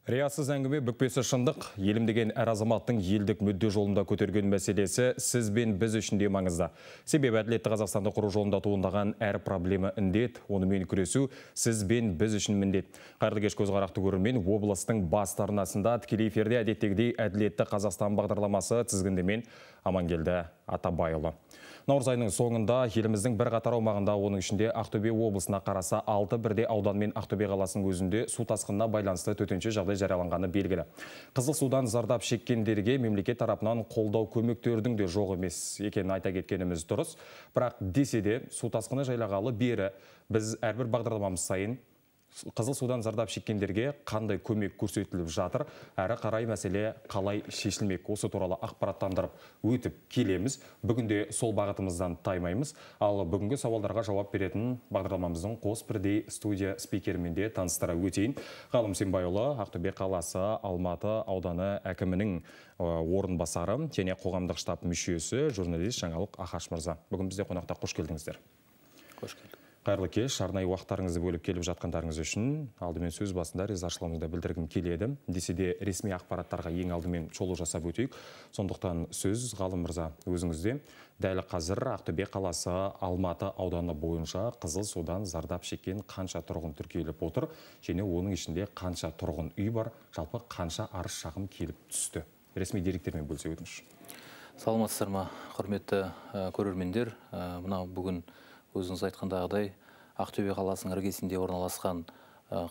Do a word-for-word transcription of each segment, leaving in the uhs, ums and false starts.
Риясыз әңгіме бүкпесі шындық, елім деген әр азаматтың елдік мүдде жолында көтерген мәселесі сіз бен біз үшін де маңызды. Себебі әділетті Қазақстанды құру жолында туындаған әр проблема індет, онымен күресу сіз бен біз үшін міндет. Қайырлы кеш көзқарақты көрермен, облыстың бас арнасында тікелей эфирде әдеттегідей әділетті Қазақстан бағдарламасы тізгіндемен Амангелді Атабайұлы. Наурыз айының соңында еліміздің бір қатар аумағында, оның ішінде Ақтөбе облысына қараса алты бірде аудан мен Ақтөбе қаласының өзінде су тасқынына байланысты төтенше жағдай жарияланғаны белгілі. Қызыл судан зардап шеккендерге мемлекет тарапынан қолдау көмектердің де жоқ емес екенін айта кеткеніміз дұрыс. Бірақ десе де су тасқыны жайлағалы бері біз әрбір бағдарламамыз сайын қызыл судан зардап шеккендерге қандай көмек көрсетіліп жатыр, әрі қарай мәселе қалай шешілмек, осы туралы ақпараттандырып өтіп келеміз. Бүгінде сол бағытымыздан таймаймыз. Ал бүгінгі сауалдарға жауап беретін бағдарламамыздың қос бірдей студия спикерімен де таныстыра өтейін. Ғалым Сембайұлы, Ақтөбе қаласы Алматы ауданы әкімінің орынбасары және қоғамдық штаб мүшесі, журналист Жаңалық Ахаш мырза. Бүгін бізде қонақта қош келдіңіздер. Қош келдік. Қайырлы кеш, арнайы уақыттарыңызды бөліп келіп жатқандарыңыз үшін алдымен сөз басында ризашылығымды білдіргім келеді. Десе де ресми ақпараттарға ең алдымен шолу жасап өтейік. Сондықтан сөз Ғалым мырза өзіңізде. Дәл қазір Ақтөбе қаласы Алматы ауданы бойынша қызыл судан зардап шеккен қанша тұрғын тіркеліп отыр, және оның ішінде қанша тұрғын үй бар, жалпы қанша арыз шағым келіп түсті. Ресми деректермен бөлісе өтіңіз. Саламатсыздар ма, құрметті көрермендер. Мына бүгін өзіңіз айтқандағыдай Ақтөбе қаласының іргесінде орналасқан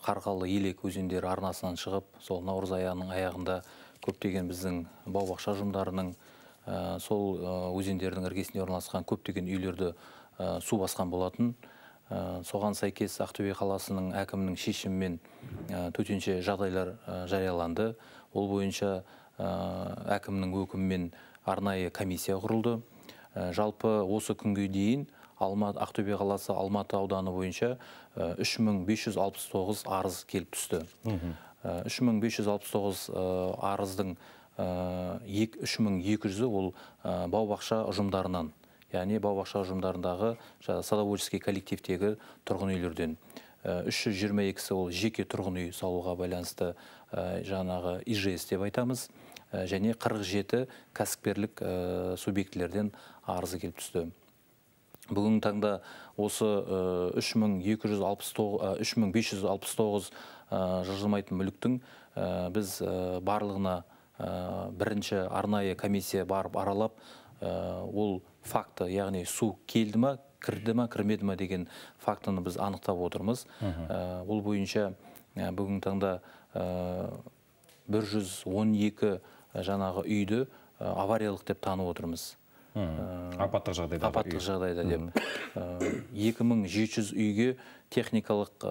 Қарғалы Елек өзендері арнасынан шығып, сол наурыз айының аяғында көптеген біздің бау-бақша ұжымдарының сол өзендердің іргесінде орналасқан көптеген үйлерді су басқан болатын. Соған сәйкес Ақтөбе қаласының әкімінің шешімімен төтенше жағдайлар жарияланды. Ол бойынша әкімнің өкімімен арнайы комиссия құрылды. Жалпы осы күнге дейін Ақтөбе қаласы Алматы ауданы бойынша үш мың бес жүз алпыс тоғыз арыз келіп түсті. үш мың бес жүз алпыс тоғыз арыздың үш мың екі жүзі ол бау-бақша ұжымдарынан, яғни бау-бақша ұжымдарындағы садоводческий коллективтегі тұрғын үйлерден. үш жүз жиырма екісі ол жеке тұрғын үй салуға байланысты жаңағы и жэ эс деп айтамыз. Және қырық жеті кәсіпкерлік субъектілерден арызы келіп түсті. Бүгін таңда осы үш мың бес жүз алпыс тоғыз жылжымайтын мүліктің біз барлығына бірінші арнайы комиссия барып аралап, ол факты, яғни су келді ма, кірді ма, кірмеді ма деген фактыны біз анықтап отырмыз. Ол бойынша бүгін таңда бір жүз он екі жаңағы үйді авариялық деп танып отырмыз. Апаттық жағдайда. Апаттық жағдайда деп. екі мың жеті жүз үйге техникалық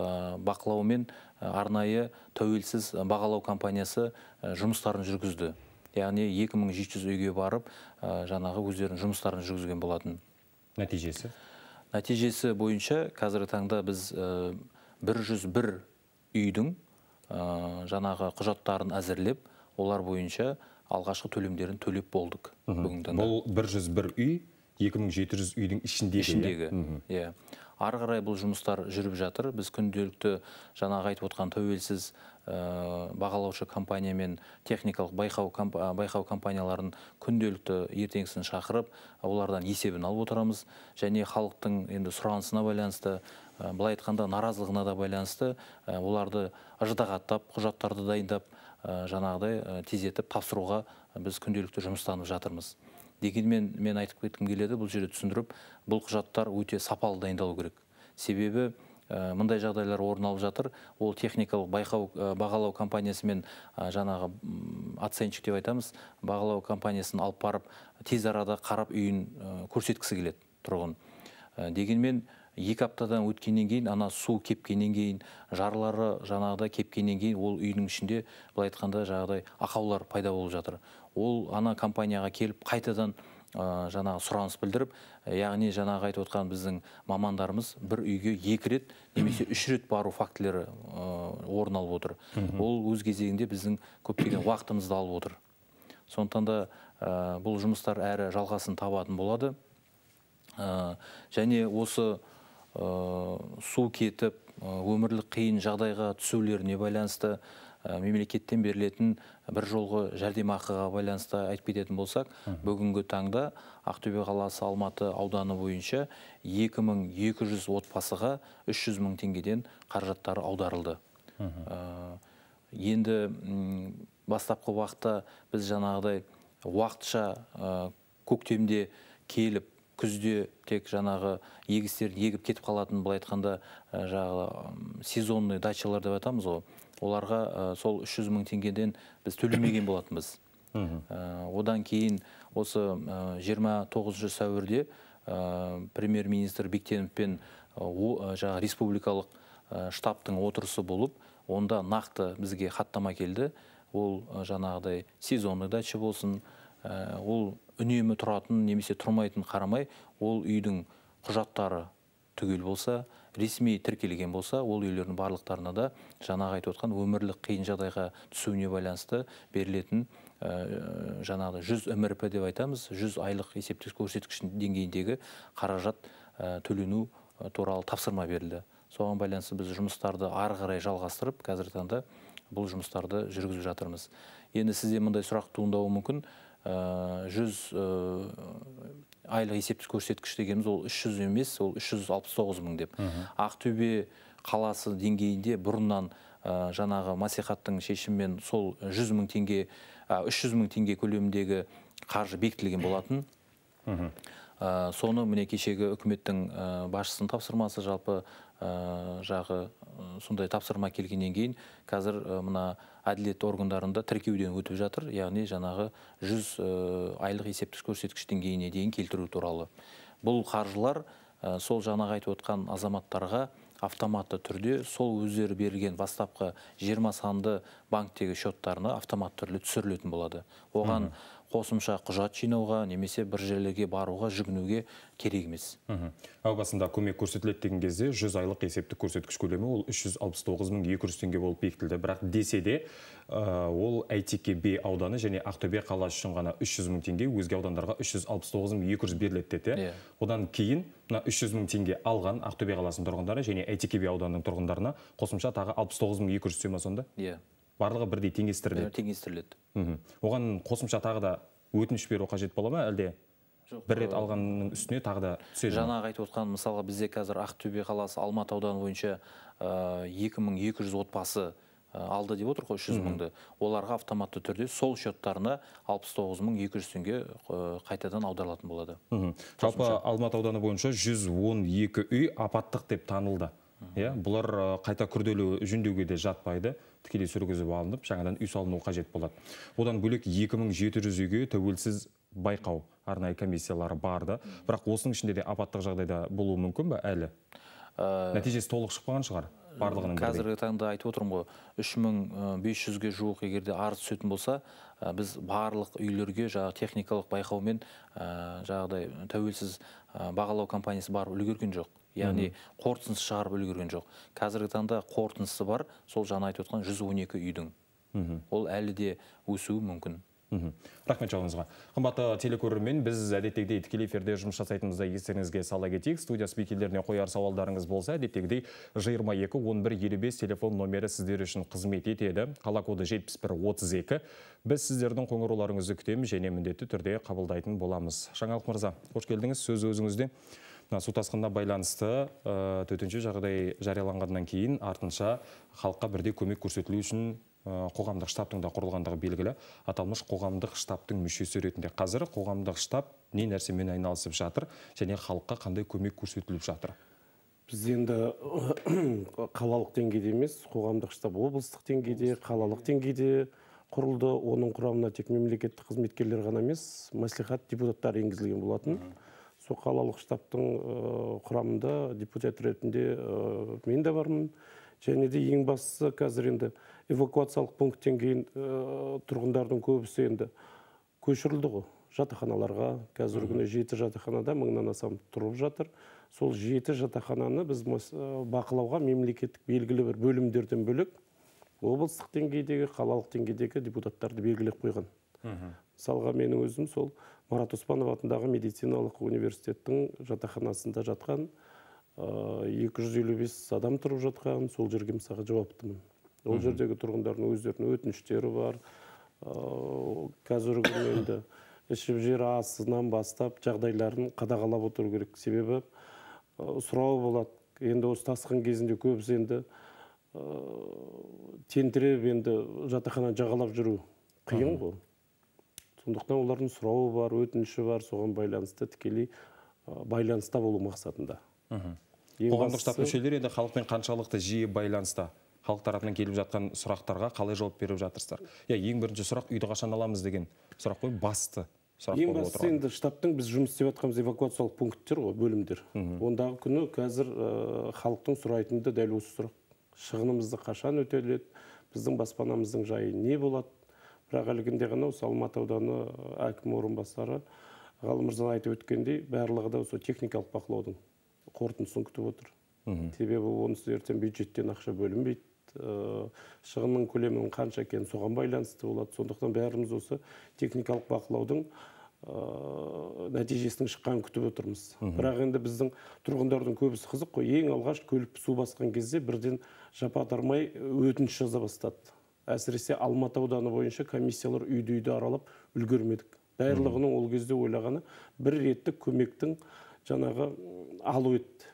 бақылаумен арнайы тәуелсіз бағалау компаниясы жұмыстарын жүргізді. Яғни екі мың жеті жүз үйге барып, жаңағы өздерінің жұмыстарын жүргізген болатын. Нәтижесі? Нәтижесі бойынша қазіргі таңда біз бір жүз бір үйдің жаңағы құжаттарын әзірлеп, олар бойынша алғашқы төлемдерін төлеп болдық. Бұл бір жүз бір үй, екі мың жеті жүз үйдің ішіндегі. Ары қарай бұл жұмыстар жүріп жатыр. Біз күнделікті жаңағы айтып отқан тәуелсіз бағалаушы компания мен техникалық байқау компанияларын күнделікті ертеңгісін шақырып, олардан есебін алып отырамыз. Және халықтың енді сұранысына байланысты, былай айтқанда наразылығына да байланысты, оларды ыждағаттап, құжаттарды дайындап, жаңағыдай тездетіп тапсыруға біз күнделікті жұмыстанып жатырмыз. Дегенмен мен айтып кеткім келеді, бұл жерде түсіндіріп, бұл құжаттар өте сапалы дайындалу керек. Себебі мындай жағдайлар орын алып жатыр. Ол техникалық бағалау компаниясы мен жаңағы оценщик деп айтамыз, бағалау компаниясын алып барып, тез арада қарап үйін көрсеткісі келеді тұрғын. Дегенмен екі аптадан өткеннен кейін, ана су кепкеннен кейін, жарлары жаңағыда кепкеннен кейін, ол үйдің ішінде былай айтқанда жаңағыдай ақаулар пайда болып жатыр. Ол ана компанияға келіп қайтадан жаңағы сұраныс білдіріп, яғни жаңағы айтып отқан біздің мамандарымыз бір үйге екі рет немесе үш рет бару фактілері орын алып отыр. Ол өз кезегінде біздің көптеген уақытымызды алып отыр. Сондықтан да бұл жұмыстар әрі жалғасын табатын болады. Және осы су кетіп, өмірлік қиын жағдайға түсулеріне байланысты мемлекеттен берілетін бір жолғы жәрдемақыға байланысты айтып кететін болсақ, бүгінгі таңда Ақтөбе қаласы Алматы ауданы бойынша екі мың екі жүз отбасыға үш жүз мың теңгеден қаражаттары аударылды. Енді бастапқы уақытта біз жаңағыдай уақытша көктемде келіп, күзде тек жаңағы егістерін егіп кетіп қалатын, бұл айтқанда жаңағы сезонный дачалар деп айтамыз ғой. Оларға сол үш жүз мың теңгеден біз төлемеген болатынбыз. Одан кейін осы жиырма тоғызыншы сәуірде премьер-министр Бектеновпен жаңағы республикалық штабтың отырысы болып, онда нақты бізге хаттама келді. Ол жаңағыдай сезонный дача болсын, ол үнемі тұратын немесе тұрмайтын қарамай, ол үйдің құжаттары түгел болса, ресми тіркелген болса, ол үйлердің барлықтарына да жаңағы айтып отқан өмірлік қиын жағдайға түсуіне байланысты берілетін жаңағы жүз эм эр пэ деп айтамыз, жүз айлық есептік көрсеткіш деңгейіндегі қаражат төлену туралы тапсырма берілді. Соған байланысты біз жұмыстарды ары қарай жалғастырып, қазіргі таңда бұл жұмыстарды жүргізіп жатырмыз. Енді сізде мындай сұрақ туындауы мүмкін, жүз айлық есептік көрсеткіш дегеніміз ол үш жүз емес, ол үш жүз алпыс тоғыз мың деп. Ақтөбе қаласы деңгейінде бұрыннан жаңағы мәслихаттың шешімімен сол жүз мың теңге, үш жүз мың теңге көлеміндегі қаржы бекітілген болатын. Соны міне кешегі үкіметтің басшысының тапсырмасы, жалпы жағы сондай тапсырма келгеннен кейін қазір мына әділет органдарында тіркеуден өтіп жатыр, яғни жаңағы жүз айлық есептік көрсеткіш деңгейіне дейін келтіру туралы. Бұл қаржылар сол жаңағы айтып отқан азаматтарға автоматты түрде сол өздері берілген бастапқы жиырма санды банктегі счеттарына автоматты түрде түсірілетін болады. Оған қосымша құжат жинауға немесе бір жерлерге баруға, жүгінуге керек емес. Әу басында көмек көрсетіледі деген кезде жүз айлық есептік көрсеткіш көлемі ол үш жүз алпыс тоғыз мың екі жүз теңге болып бекітілді. Бірақ десе де ол Әйтеке би ауданы және Ақтөбе қаласы үшін ғана үш жүз мың теңге, өзге аудандарға үш жүз алпыс тоғыз мың екі жүз беріледі деді. Одан кейін үш жүз мың теңге алған Ақтөбе қаласының тұрғындары және Әйтеке би ауданының тұрғындарына қосымша тағы алпыс тоғыз мың екі жүз түседі ме сонда? Иә. Барлығы бірдей теңестіріледі. Теңестіріледі. Оған қосымша тағы да өтініш беру қажет бола ма, әлде бір рет алғанның үстіне тағы да түседі? Жаңағы айтып отқан, мысалға бізде қазір Ақтөбе қаласы Алматы ауданы бойынша екі мың екі жүз отбасы алды деп отыр ғой, үш жүз мыңды. Оларға автоматты түрде сол счеттарына алпыс тоғыз мың екі жүз теңге қайтадан аударылатын болады. Жалпы Алматы ауданы бойынша жүз он екі үй апаттық деп танылды. Бұлар қайта күрделі жөндеуге де жатпайды, тікелей жүргізіп алынып, жаңадан үй салыну қажет болады. Одан бөлек екі мың жеті жүз үйге тәуелсіз байқау арнайы комиссиялары барды. Бірақ осының ішінде де апаттық жағдайда болуы мүмкін бе әлі? Нәтижесі толық шықпаған шығар барлығының бірдей. Қазіргі таңда айтып отырмын ғой, үш мың бес жүзге жуық егерде арыз түсетін болса, біз барлық үйлерге жаңағы техникалық байқаумен жаңағыдай тәуелсіз бағалау компаниясы барып үлгерген жоқ. Яғни қорытындысы шығарып үлгерген жоқ. Қазіргі таңда қорытындысы бар, сол жаңа айтып отқан жүз он екі үйдің. Ол әлі де өсуі мүмкін. Рахмет жауыңызға. Қымбатты телекөрермен, біз әдеттегідей тікелей эфирде жұмыс жасайтынымызда естеріңізге сала кетейік. Студия спикерлеріне қояр сауалдарыңыз болса, әдеттегідей жиырма екі он бір елу бес телефон номері сіздер үшін қызмет етеді. Қала коды жетпіс бір отыз екі. Біз сіздердің қоңырауларыңызды күтеміз және міндетті түрде қабылдайтын боламыз. Жаңалық мырза, қош келдіңіз, сөз өзіңізде. Су тасқынына байланысты төтенше жағдай жарияланғаннан кейін артынша халыққа бірдей көмек көрсетілу үшін қоғамдық штабтың да құрылғандығы белгілі. Аталмыш қоғамдық штабтың мүшесі ретінде қазір қоғамдық штаб не нәрсемен айналысып жатыр және халыққа қандай көмек көрсетіліп жатыр? Біз енді қалалық деңгейде емес, қоғамдық штаб облыстық деңгейде, қалалық деңгейде құрылды. Оның құрамына тек мемлекеттік қызметкерлер ғана емес, мәслихат депутаттары енгізілген болатын. Сол қалалық штабтың құрамында депутат ретінде мен де бармын. Және де ең бастысы қазір енді эвакуациялық пункттен кейін тұрғындардың көбісі енді көшірілді ғой жатақханаларға. Қазіргі күні жеті жатақханада мыңнан астам тұрып жатыр. Сол жеті жатақхананы біз бақылауға мемлекеттік белгілі бір бөлімдерден бөлек облыстық деңгейдегі, қалалық деңгейдегі депутаттарды белгілеп қойған. Мысалға менің өзім сол Марат Оспанов атындағы медициналық университеттің жатақханасында жатқан екі жүз елу бес адам тұрып жатқан, сол жерге мысалға жауаптымын. Ол жердегі тұрғындардың өздерінің өтініштері бар. Қазіргі күні енді ішіп жер асынан бастап жағдайларын қадағалап отыру керек. Себебі сұрау болады. Енді осы тасқын кезінде көбісі енді тентіреп енді жатақхана жағалап жүру қиын ғой. Сондықтан олардың сұрауы бар, өтініші бар, соған байланысты тікелей байланыста болу мақсатында. Қоғамдық штаб мүшелері енді халықпен қаншалықты жиі байланыста? Халық тарапынан келіп жатқан сұрақтарға қалай жауап беріп жатырсыздар? Я, ең бірінші сұрақ үйді қашан аламыз деген сұрақ қой, басты сұрақ ең болып бастысы отырған. енді штабтың біз жұмыс істеп жатқанымыз эвакуациялық пункттер ғой, бөлімдер. Ондағы күні қазір халықтың сұрайтынды дәл осы сұрақ. Шығынымызды қашан өтеледі, біздің баспанамыздың жайы не болады? Бірақ әлгінде ғана осы Алматы ауданы әкім орынбасары Ғалым мырза айтып өткендей, барлығы да осы техникалық бақылаудың қорытындысын күтіп отыр. Себебі онысы ертең бюджеттен ақша бөлінбейді. Шығынның көлемінің қанша екені соған байланысты болады. Сондықтан бәріміз осы техникалық бақылаудың нәтижесінің шыққанын күтіп отырмыз. Бірақ енді біздің тұрғындардың көбісі қызық қой. Ең алғаш көлік су басқан кезде бірден жапа-тармай өтініш жаза бастады. Әсіресе Алматы ауданы бойынша комиссиялар үйді-үйді аралап үлгермедік. Барлығының ол кезде ойлағаны бір реттік көмектің жаңағы алу етті.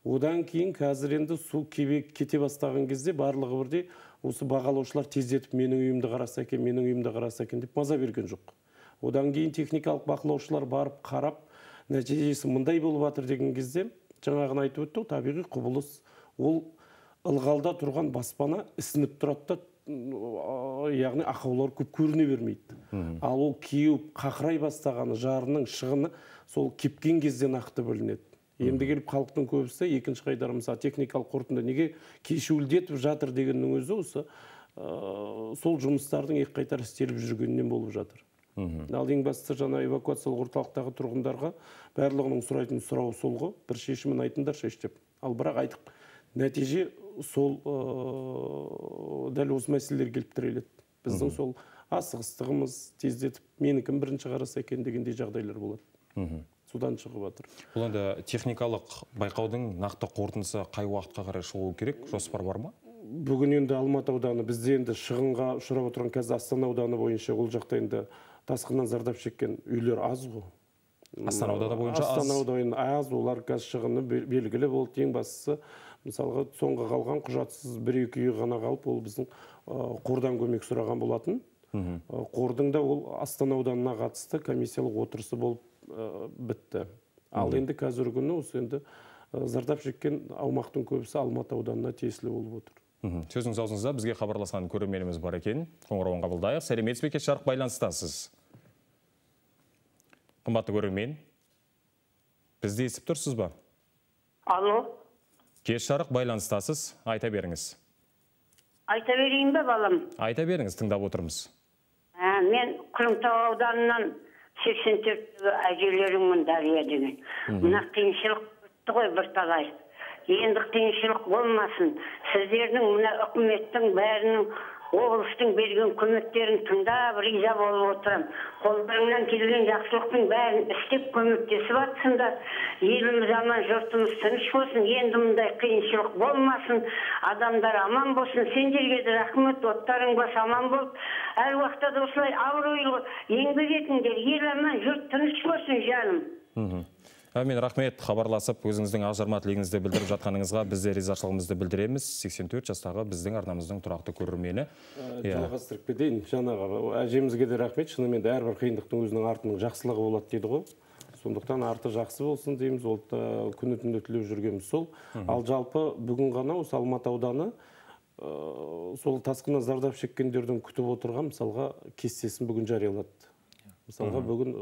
Одан кейін қазір енді су кете бастаған кезде барлығы бірдей осы бағалаушылар тездетіп менің үйімді қараса екен, менің үйімді қараса екен деп маза берген жоқ. Одан кейін техникалық бақылаушылар барып қарап, нәтижесі мындай болып жатыр деген кезде жаңағын айтып өтті, табиғи құбылыс. Ол ылғалда тұрған баспана ісініп тұрады, яғни ақаулар көп көріне бермейді. Ал ол кеуіп қақырай бастағаны, жарының шығыны сол кепкен кезде нақты білінеді. Енді келіп халықтың көбісі екінші қайдар мысалы техникалық қорытынды неге кешеуілдетіп жатыр дегеннің өзі осы сол жұмыстардың екі қайтар істеліп жүргенінен болып жатыр. Ал ең бастысы жаңа эвакуациялық орталықтағы тұрғындарға барлығының сұрайтын сұрауы сол ғой, бір шешімін айтыңдаршы деп. Ал бірақ айтып, нәтиже сол дәл осы мәселелер келіп тіреледі. Біздің сол асығыстығымыз тездетіп, менікін бірінші қараса екен дегендей жағдайлар болады. Судан шығып жатыр. Бұл енді техникалық байқаудың нақты қорытындысы қай уақытқа қарай шығуы керек? Жоспар бар ма? Бүгін енді Алматы ауданы бізде енді шығынға ұшырап отырған қазір Астана ауданы бойынша ол жақта енді тасқыннан зардап шеккен үйлер аз ғой. Астана ауданы бойынша аз. Астана ауданы аз, олар қазір шығыны белгілі болды. Ең бастысы мысалға соңғы қалған құжатсыз бір-екі үй ғана қалып, ол біздің қордан көмек сұраған болатын. Қордың да ол Астана ауданына қатысты комиссиялық отырысы болып бітті. Ал енді қазіргі күні осы енді зардап шеккен аумақтың көбісі Алматы ауданына тиесілі болып отыр. Сөзіңіз аузыңызда бізге хабарласқан көрерменіміз бар екен. Қоңырауын қабылдайық. Сәлеметсіз бе, кеш жарық байланыстасыз. Қымбатты көрермен, бізді естіп тұрсыз ба? Алло. Кеш жарық байланыстасыз. Айта беріңіз. Айта берейін бе, балам? Айта беріңіз, тыңдап отырмыз. Мен Күрімтау ауданынан сексен төрт әжелерімін Дария деген. Мына қиыншылық өтті ғой бір талай. Енді қиыншылық болмасын. Сіздердің мына үкіметтің бәрінің облыстың берген көмектерін тыңдап риза болып отырам. Қолдарыңнан келген жақсылықтың бәрін істеп көмектесіп жатсыңдар. Еліміз аман, жұртымыз тыныш болсын. Енді мұндай қиыншылық болмасын. Адамдар аман болсын. Сендерге де рахмет, оттарың бас аман болып. Әр уақытта да осылай абыройлы еңбек етіңдер. Ел аман, жұрт тыныш болсын жаным. Мен рахмет, хабарласып, өзіңіздің ақжарма тілегіңізді білдіріп жатқаныңызға бізде ризашылығымызды білдіреміз. сексен төрт жастағы біздің арнамыздың тұрақты көрермені. Жалғастырып кетейін, жаңағы әжемізге де рахмет. Шынымен де әрбір қиындықтың өзінің артының жақсылығы болады дейді ғой. Сондықтан арты жақсы болсын дейміз, ол күні түнде тілеп жүргеніміз сол. Ал жалпы бүгін ғана осы Алматы ауданы сол тасқыннан зардап шеккендердің күтіп отырған мысалға кестесін бүгін жариялады. Мысалға бүгін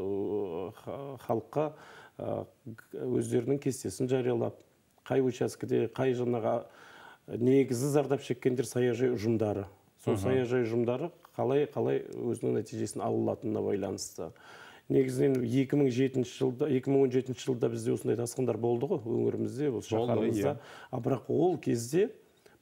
халыққа өздерінің кестесін жариялап, қай учаскеде, қай жаңағы негізі зардап шеккендер саяжай ұжымдары. Сол саяжай ұжымдары қалай-қалай өзінің нәтижесін алынатынына байланысты. Негізінен екі мың жетінші жылда, екі мың он жетінші жылда бізде осындай тасқындар болды ғой, өңірімізде, осы шаһарымызда. Бірақ ол кезде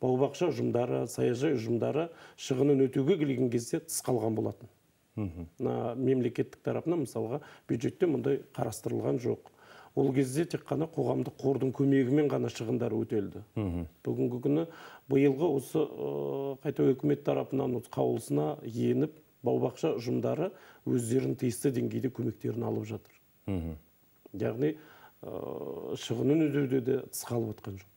бау-бақша ұжымдары, саяжай ұжымдары шығынын өтеуге келген кезде тыс қалған болатын. Мемлекеттік тарапынан мысалға бюджетте мұндай қарастырылған жоқ. ол кезде тек қана қоғамдық қордың көмегімен ғана шығындары өтелді. Бүгінгі күні биылғы осы қайта үкімет тарапынан қаулысына еніп, бау-бақша ұжымдары өздерін тиісті деңгейде көмектерін алып жатыр. Яғни шығынын өтеуде де тыс қалып отқан жоқ.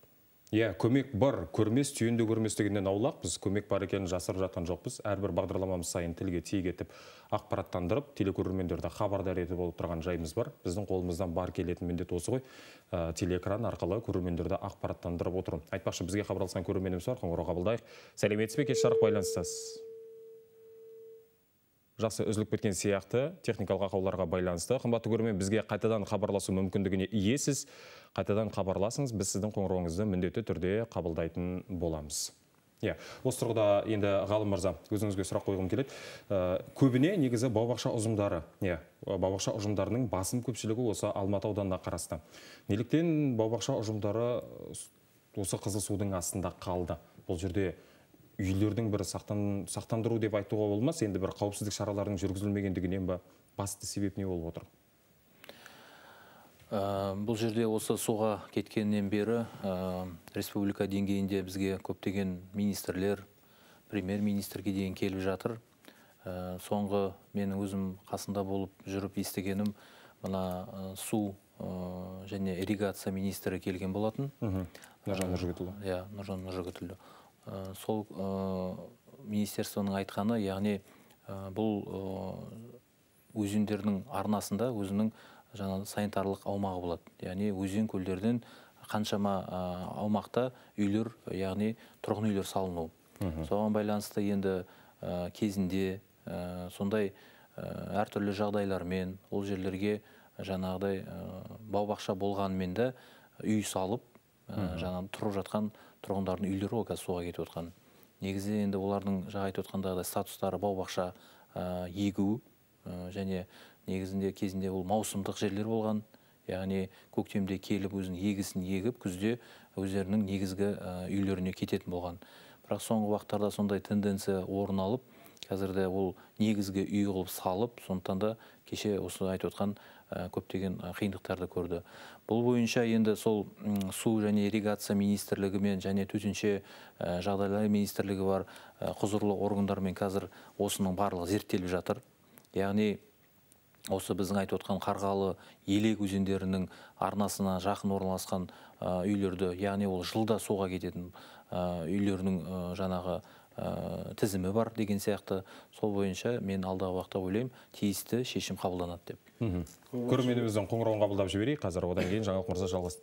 Иә, көмек бар, көрмес, түйінді көрмес дегеннен аулақ, біз көмек бар екенін жасырып жатқан жоқпыз. Әрбір бағдарламамыз сайын тілге тиек етіп, ақпараттандырып, телекөрермендерді хабардар етіп болып тұрған жайымыз бар. Біздің қолымыздан бар келетін міндет осы ғой. Телеэкран арқылы көрермендерді ақпараттандырып отыру. Айтпақшы, бізге хабарласқан көрерменіміз бар, қоңырау қабылдайық. Сәлеметсіз бе, кеш жарық байланыстасыз? Жақсы, үзіліп кеткен сияқты техникалық ақауларға байланысты. Қымбатты көрермен, бізге қайтадан хабарласу мүмкіндігіне иесіз. Қайтадан хабарласыңыз, біз сіздің қоңырауыңызды міндетті түрде қабылдайтын боламыз. Иә, осы тұрғыда енді Ғалым мырза, өзіңізге сұрақ қойғым келеді. Көбіне негізі бау-бақша ұжымдары, иә, бау-бақша ұжымдарының басым көпшілігі осы Алматы ауданына қарасты. Неліктен бау-бақша ұжымдары осы қызыл судың астында қалды? Бұл жерде үйлердің бір сақтандыру деп айтуға болмас, енді бір қауіпсіздік шараларының жүргізілмегендігінен ба, басты себеп не болып отыр? Бұл жерде осы суға кеткеннен бері республика деңгейінде бізге көптеген министрлер, премьер-министрге дейін келіп жатыр. Соңғы менің өзім қасында болып жүріп естігенім, мына су және ирригация министрі келген болатын. Нұржан Нұржігітұлы. Иә, Нұржан Нұржігітұлы. Сол министерствоның айтқаны, яғни бұл өзендердің арнасында өзінің жаңа санитарлық аумағы болады. Яғни өзен көлдерден қаншама аумақта үйлер, яғни тұрғын үйлер салыну. Соған байланысты енді кезінде сондай әртүрлі жағдайлармен ол жерлерге жаңағыдай бау-бақша болғанымен де үй салып, жаңағы тұрып жатқан тұрғындардың үйлері ол қазір суға кетіп отқан. Негізі енді олардың жаңа айтып отқандағыдай статустары бау-бақша егу және негізінде кезінде ол маусымдық жерлер болған. Яғни көктемде келіп өзінің егісін егіп, күзде өздерінің негізгі үйлеріне кететін болған. Бірақ соңғы уақыттарда сондай тенденция орын алып, қазірде ол негізгі үй қылып салып, сондықтан да кеше осы айтып отқан көптеген қиындықтарды көрді. Бұл бойынша енді сол су және ирригация министрлігімен және төтенше жағдайлар министрлігі бар құзырлы органдармен қазір осының барлығы зерттеліп жатыр. Яғни осы біздің айтып отқан Қарғалы, Елек өзендерінің арнасына жақын орналасқан үйлерді, яғни ол жылда суға кететін үйлерінің жаңағы тізімі бар деген сияқты. Сол бойынша мен алдағы уақытта ойлаймын, тиісті шешім қабылданады деп. Көрерменіміздің қоңырауын қабылдап жіберейік. Қазір одан кейін Жаңалық мырза жалғас.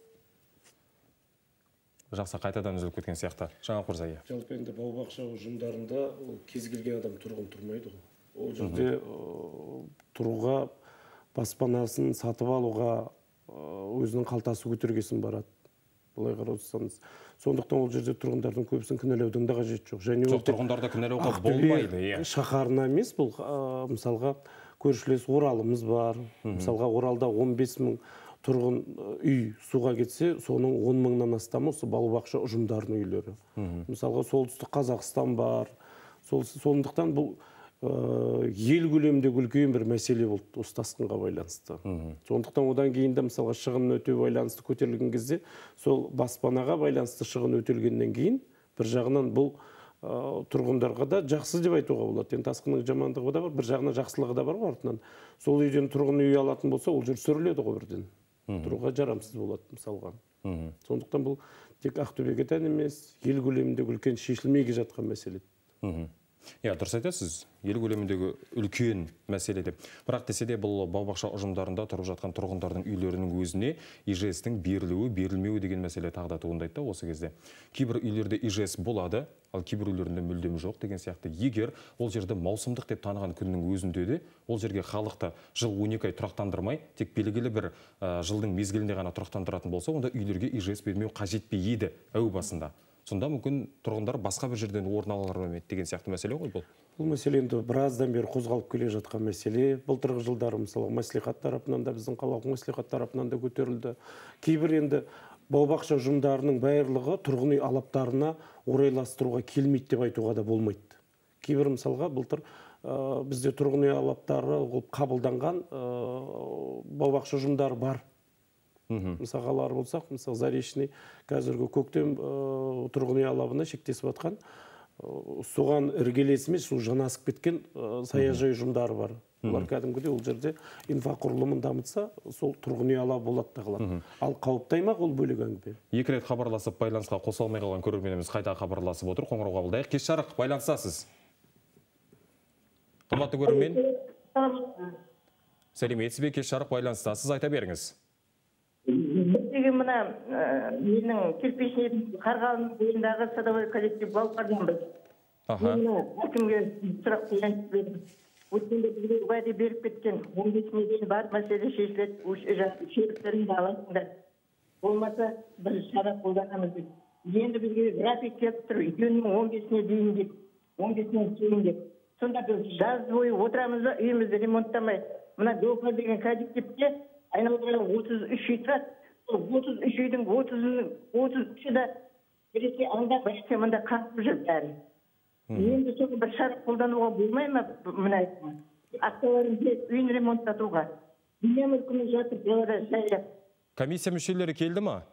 Жақсы, қайтадан үзіліп кеткен сияқты. Жаңалық мырза, иә. Жалпы енді бау-бақша ұжымдарында кез келген адам тұрғын тұрмайды ғой. Ол жерде тұруға, баспанасын сатып алуға өзінің қалтасы көтергесін барады. Бұлай қарасаңыз. Сондықтан ол жерде тұрғындардың көбісін кінәлаудың да қажеті жоқ. Және Жоқ, тұрғындарды кінәлауға болмайды. Шаһарына емес, бұл мысалға көршілес Оралымыз бар. Мысалға Оралда он бес мың тұрғын үй суға кетсе, соның он мыңнан астамы осы бау-бақша ұжымдарының үйлері. Мысалға солтүстік Қазақстан бар. Сондықтан бұл ел көлеміндегі үлкен бір мәселе болды осы тасқынға байланысты. Сондықтан одан кейін де мысалға шығын өтеу байланысты көтерілген кезде, сол баспанаға байланысты шығын өтелгеннен кейін бір жағынан бұл тұрғындарға да жақсы деп айтуға болады. Енді тасқынның жамандығы да бар, бір жағынан жақсылығы да бар артынан. Сол үйден тұрғын үй алатын болса, ол жер сүріледі ғой бірден. Тұруға жарамсыз болады мысалға. Сондықтан бұл тек Ақтөбеге тән емес, ел көлеміндегі үлкен шешілмей жатқан мәселе. Иә, дұрыс айтасыз, ел көлеміндегі үлкен мәселе деп. Бірақ десе де бұл бау-бақша ұжымдарында тұрып жатқан тұрғындардың үйлерінің өзіне ИЖС-тің берілуі, берілмеуі деген мәселе тағы да туындайды осы кезде. Кейбір үйлерде ИЖС болады, ал кейбір үйлерінде мүлдем жоқ деген сияқты. Егер ол жерді маусымдық деп таныған күннің өзінде де ол жерге халықты жыл он екі ай тұрақтандырмай, тек белгілі бір жылдың мезгілінде ғана тұрақтандыратын болса, онда үйлерге ИЖС бермеу қажет пе еді әу басында. Сонда мүмкін тұрғындар басқа бір жерден орын алар ма деген сияқты мәселе ғой бұл. Бұл мәселе енді біраздан бері қозғалып келе жатқан мәселе. Былтырғы жылдары мысалы мәслихат тарапынан да, біздің қалалық мәслихат тарапынан да көтерілді. Кейбір енді бау-бақша ұжымдарының барлығы тұрғын үй алаптарына орайластыруға келмейді деп айтуға да болмайды. Кейбір мысалға былтыр бізде тұрғын үй алаптары қабылданған бау-бақша ұжымдары бар. Мысалы қалар болсақ, мысалы Заречный қазіргі көктем тұрғын үй алабына шектесіп жатқан, соған іргелесімен су жанасып кеткен саяжай ұжымдары бар. Олар кәдімгідей ол жерде инфрақұрылымын дамытса, сол тұрғын үй алабы болады да қалады. Ал қауіпті аймақ ол бөлек әңгіме. Екі рет хабарласып байланысқа қоса алмай қалған көрерменіміз қайта хабарласып отыр. Қоңырау қабылдайық. Кеш жарық, байланысасыз. Қымбатты көрермен. Сәлеметсіз бе, кеш жарық, байланыстасыз, айта беріңіз. Біздегі мына менің кирпичный Қарғалының бойындағы садовой коллектив балаларымыз. Әкімге сұрақ қойып бердім. Өткенде бізге уәде беріп кеткен он бесіне дейін бар мәселе шешіледі, шеріктеріңді аласыңдар. Болмаса бір шара қолданамыз деп. Енді бізге график келіп тұр, үйінің он бесіне дейін деп, он бесіне кейін деп. Сонда біз жаз бойы отырамыз да, үйімізді ремонттамай. Мына доғыр деген коллективте айналдыра отыз үш үй тұрады. отыз үш үйдің отыз үші да біресе анда, біресе мында қаңқып жүр бәрі. Енді соны бір шара қолдануға болмай ма, мына айтма. Ақталарымды үйін ремонттатуға. Дүние мүлкіміз жатыр, белара жайлы. Комиссия мүшелері келді ма?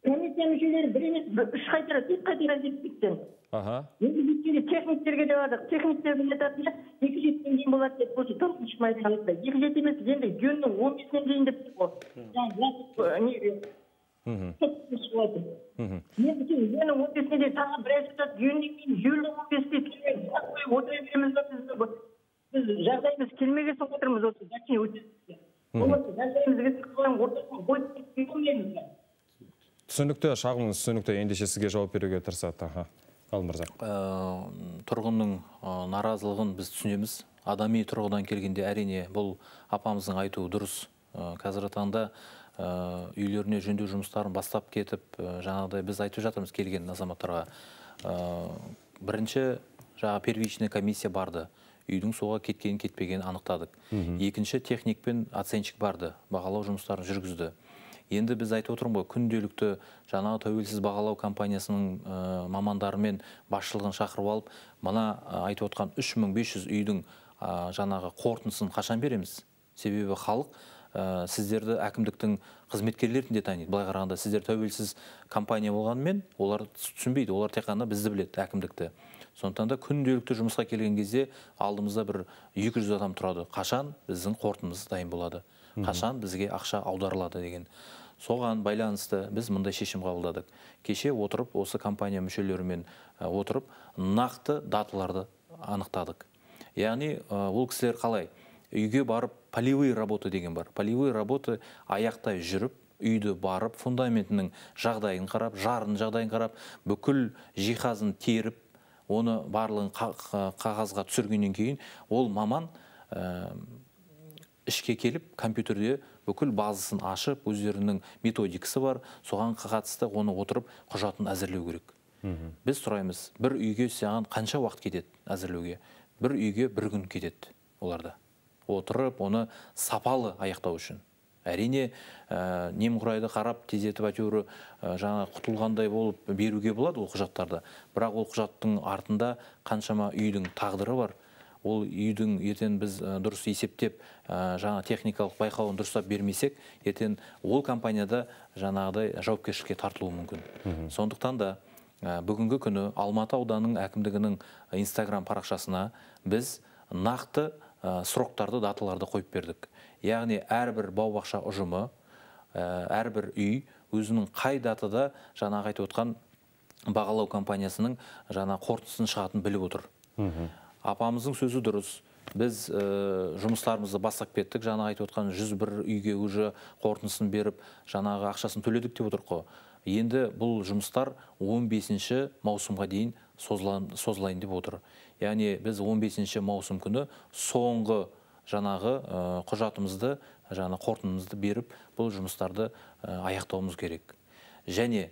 Комиссия мүшелері бір емес, үш қайтара, тек қайтара жетпектен. Енді бүткенде техниктерге де бардық. Техниктердің етатында екі жетіден кейін болады деп болсы, тоғызыншы майдан қалыпта. екі жеті емес, енді гүннің он бесінен дейін деп бұл. Енді кейін гүннің он бесіне дейін тағы бір әсетат, гүннен кейін жүйелі он бесіне келген. Отыра береміз ба біз жағдайымыз келмегесін отырмыз осы зәкіне өтесіз. Оласы жағдайымызға сықылан ортасын қойып келмейміз. Түсінікті, шағымыңыз түсінікті, ендеше сізге жауап беруге тырысады. Алмырза. Тұрғынның наразылығын біз түсінеміз. Адами тұрғыдан келгенде әрине бұл апамыздың айтуы дұрыс. Қазіргі таңда үйлеріне жөндеу жұмыстарын бастап кетіп, жаңағыдай біз айтып жатырмыз келген азаматтарға. Бірінші жаңа первичный комиссия барды. Үйдің суға кеткенін кетпегенін анықтадық. Екінші техникпен оценщик барды. Бағалау жұмыстарын жүргізді. Енді біз айтып отырмыз ғой, күнделікті жаңағы тәуелсіз бағалау компаниясының мамандарымен басшылығын шақырып алып, мына айтып отқан үш мың бес жүз үйдің жаңағы қорытындысын қашан береміз? Себебі халық сіздерді әкімдіктің қызметкерлерін де таниды. Былай қарағанда сіздер тәуелсіз компания болғанымен, олар түсінбейді, олар тек қана бізді біледі, әкімдікті. Сондықтан да күнделікті жұмысқа келген кезде алдымызда бір екі жүз адам тұрады. Қашан біздің қорытындымыз дайын болады? Қашан бізге ақша аударылады деген. Соған байланысты біз мындай шешім қабылдадық. Кеше отырып, осы компания мүшелерімен отырып, нақты даталарды анықтадық. Яғни, ол кісілер қалай? Үйге барып, полевые работы деген бар. Полевые работы аяқтай жүріп, үйді барып, фундаментінің жағдайын қарап, жарын жағдайын қарап, бүкіл жиһазын теріп, оны барлығын қағазға түсіргеннен кейін, ол маман ішке келіп, компьютерде бүкіл базасын ашып, өздерінің методикасы бар, соған қатысты оны отырып, құжатын әзірлеу керек. Біз сұраймыз, бір үйге саған қанша уақыт кетеді әзірлеуге? Бір үйге бір күн кетеді оларда. Отырып, оны сапалы аяқтау үшін. Әрине, немқұрайды қарап, тездетіп әйтеуір жаңа құтылғандай болып беруге болады ол құжаттарды. Бірақ ол құжаттың артында қаншама үйдің тағдыры бар. Ол үйдің ертең біз дұрыс есептеп, жаңа техникалық байқауын дұрыстап бермесек, ертең ол компанияда жаңағыдай жауапкершілікке тартылуы мүмкін. Сондықтан да бүгінгі күні Алматы ауданының әкімдігінің Instagram парақшасына біз нақты сроктарды, даталарды қойып бердік. Яғни әрбір бау-бақша ұжымы, әрбір үй өзінің қай датада жаңағы айтып отқан бағалау компаниясының жаңа қорытындысын шығатын біліп отыр. Апамыздың сөзі дұрыс. Біз жұмыстарымызды бастап кеттік. Жаңағы айтып отқан жүз бір үйге уже қорытындысын беріп, жаңағы ақшасын төледік деп отыр қой. Енді бұл жұмыстар он бесінші маусымға дейін созылайын деп отыр. Яғни біз он бесінші маусым күні соңғы жаңағы құжатымызды, жаңа қорытындымызды беріп, бұл жұмыстарды аяқтауымыз керек. Және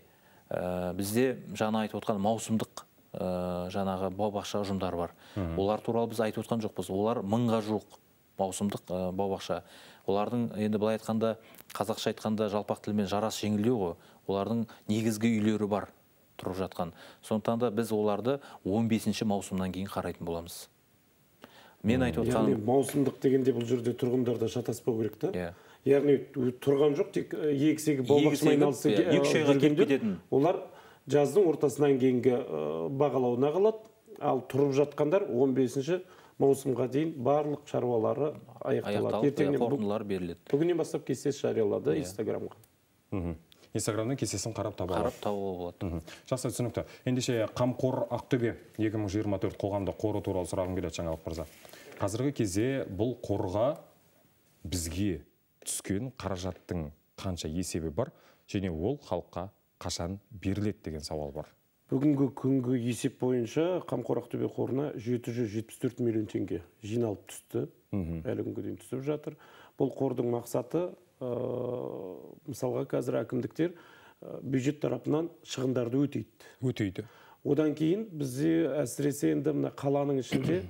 бізде жаңа айтып отқан маусымдық жаңағы бау-бақша ұжымдары бар. Олар туралы біз айтып отқан жоқпыз. Олар мыңға жуық маусымдық бау-бақша. Олардың енді былай айтқанда, қазақша айтқанда жалпақ тілмен жарас жеңілдеу ғой. Олардың негізгі үйлері бар тұрып жатқан. Сондықтан да біз оларды он бесінші маусымнан кейін қарайтын боламыз. Мен айтып отқан... Яғни маусымдық дегенде бұл жерде тұрғындарда шатаспау керек та? яғни тұрған жоқ, тек егісегі бау-бақшамен айналысып олар жаздың ортасынан кейінгі бағалауына қалады. Ал тұрып жатқандар он бесінші маусымға дейін барлық шаруалары аяқталады. Ертеңнен қорытындылар беріледі. Бүгіннен бастап кестесі жариялады Инстаграмға. Инстаграмның кестесін қарап таба алады. Қарап табуға болады. Жақсы, түсінікті. Ендеше Қамқор Ақтөбе екі мың жиырма төрт қоғамдық қоры туралы сұрағым келеді, Жаңалық мырза. Қазіргі кезде бұл қорға бізге түскен қаражаттың қанша есебі бар, және ол халыққа қашан беріледі деген сауал бар. Бүгінгі күнгі есеп бойынша Қамқор Ақтөбе қорына жеті жүз жетпіс төрт миллион теңге жиналып түсті. Әлі күнге дейін түсіп жатыр. Бұл қордың мақсаты, мысалға қазір әкімдіктер бюджет тарапынан шығындарды өтейді. Өтейді. Одан кейін бізде әсіресе енді мына қаланың ішінде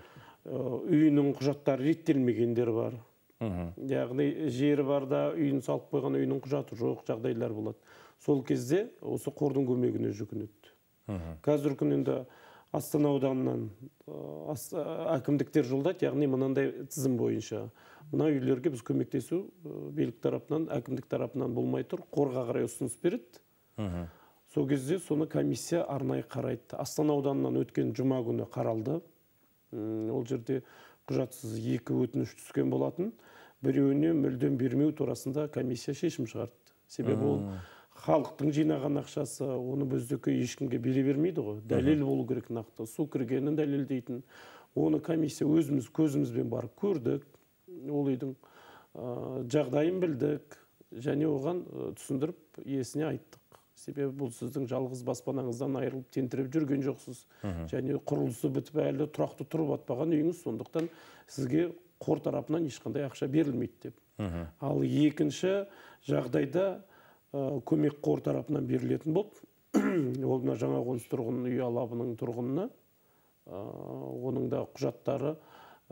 үйінің құжаттары реттелмегендер бар. Яғни жері бар да үйін салып қойған, үйінің құжаты жоқ жағдайлар болады. Сол кезде осы қордың көмегіне жүгінеді. Қазір күн енді Астана ауданынан әкімдіктер жолдайды, яғни мынандай тізім бойынша. Мына үйлерге біз көмектесу билік тарапынан, әкімдік тарапынан болмай тұр, қорға қарай ұсыныс береді. Сол кезде соны комиссия арнайы қарайды. Астана ауданынан өткен жұма күні қаралды. Ол жерде құжатсыз екі өтініш түскен болатын. Біреуіне мүлдем бермеу турасында комиссия шешім шығарды. Себебі ол халықтың жинаған ақшасы, оны біздікі ешкімге бере бермейді ғой. Дәлел болу керек нақты. Су кіргенін дәлелдейтін. Оны комиссия өзіміз көзімізбен барып көрдік. Ол үйдің жағдайын білдік. Және оған түсіндіріп иесіне айттық. Себебі бұл сіздің жалғыз баспанаңыздан айырылып тентіреп жүрген жоқсыз. Және құрылысы бітіп әлі тұрақты тұрып атпаған үйіңіз, сондықтан сізге қор тарапынан ешқандай ақша берілмейді деп. Ал екінші жағдайда көмек қор тарапынан берілетін болып, ол мына жаңа қоныс тұрғын үй алабының тұрғынына, оның да құжаттары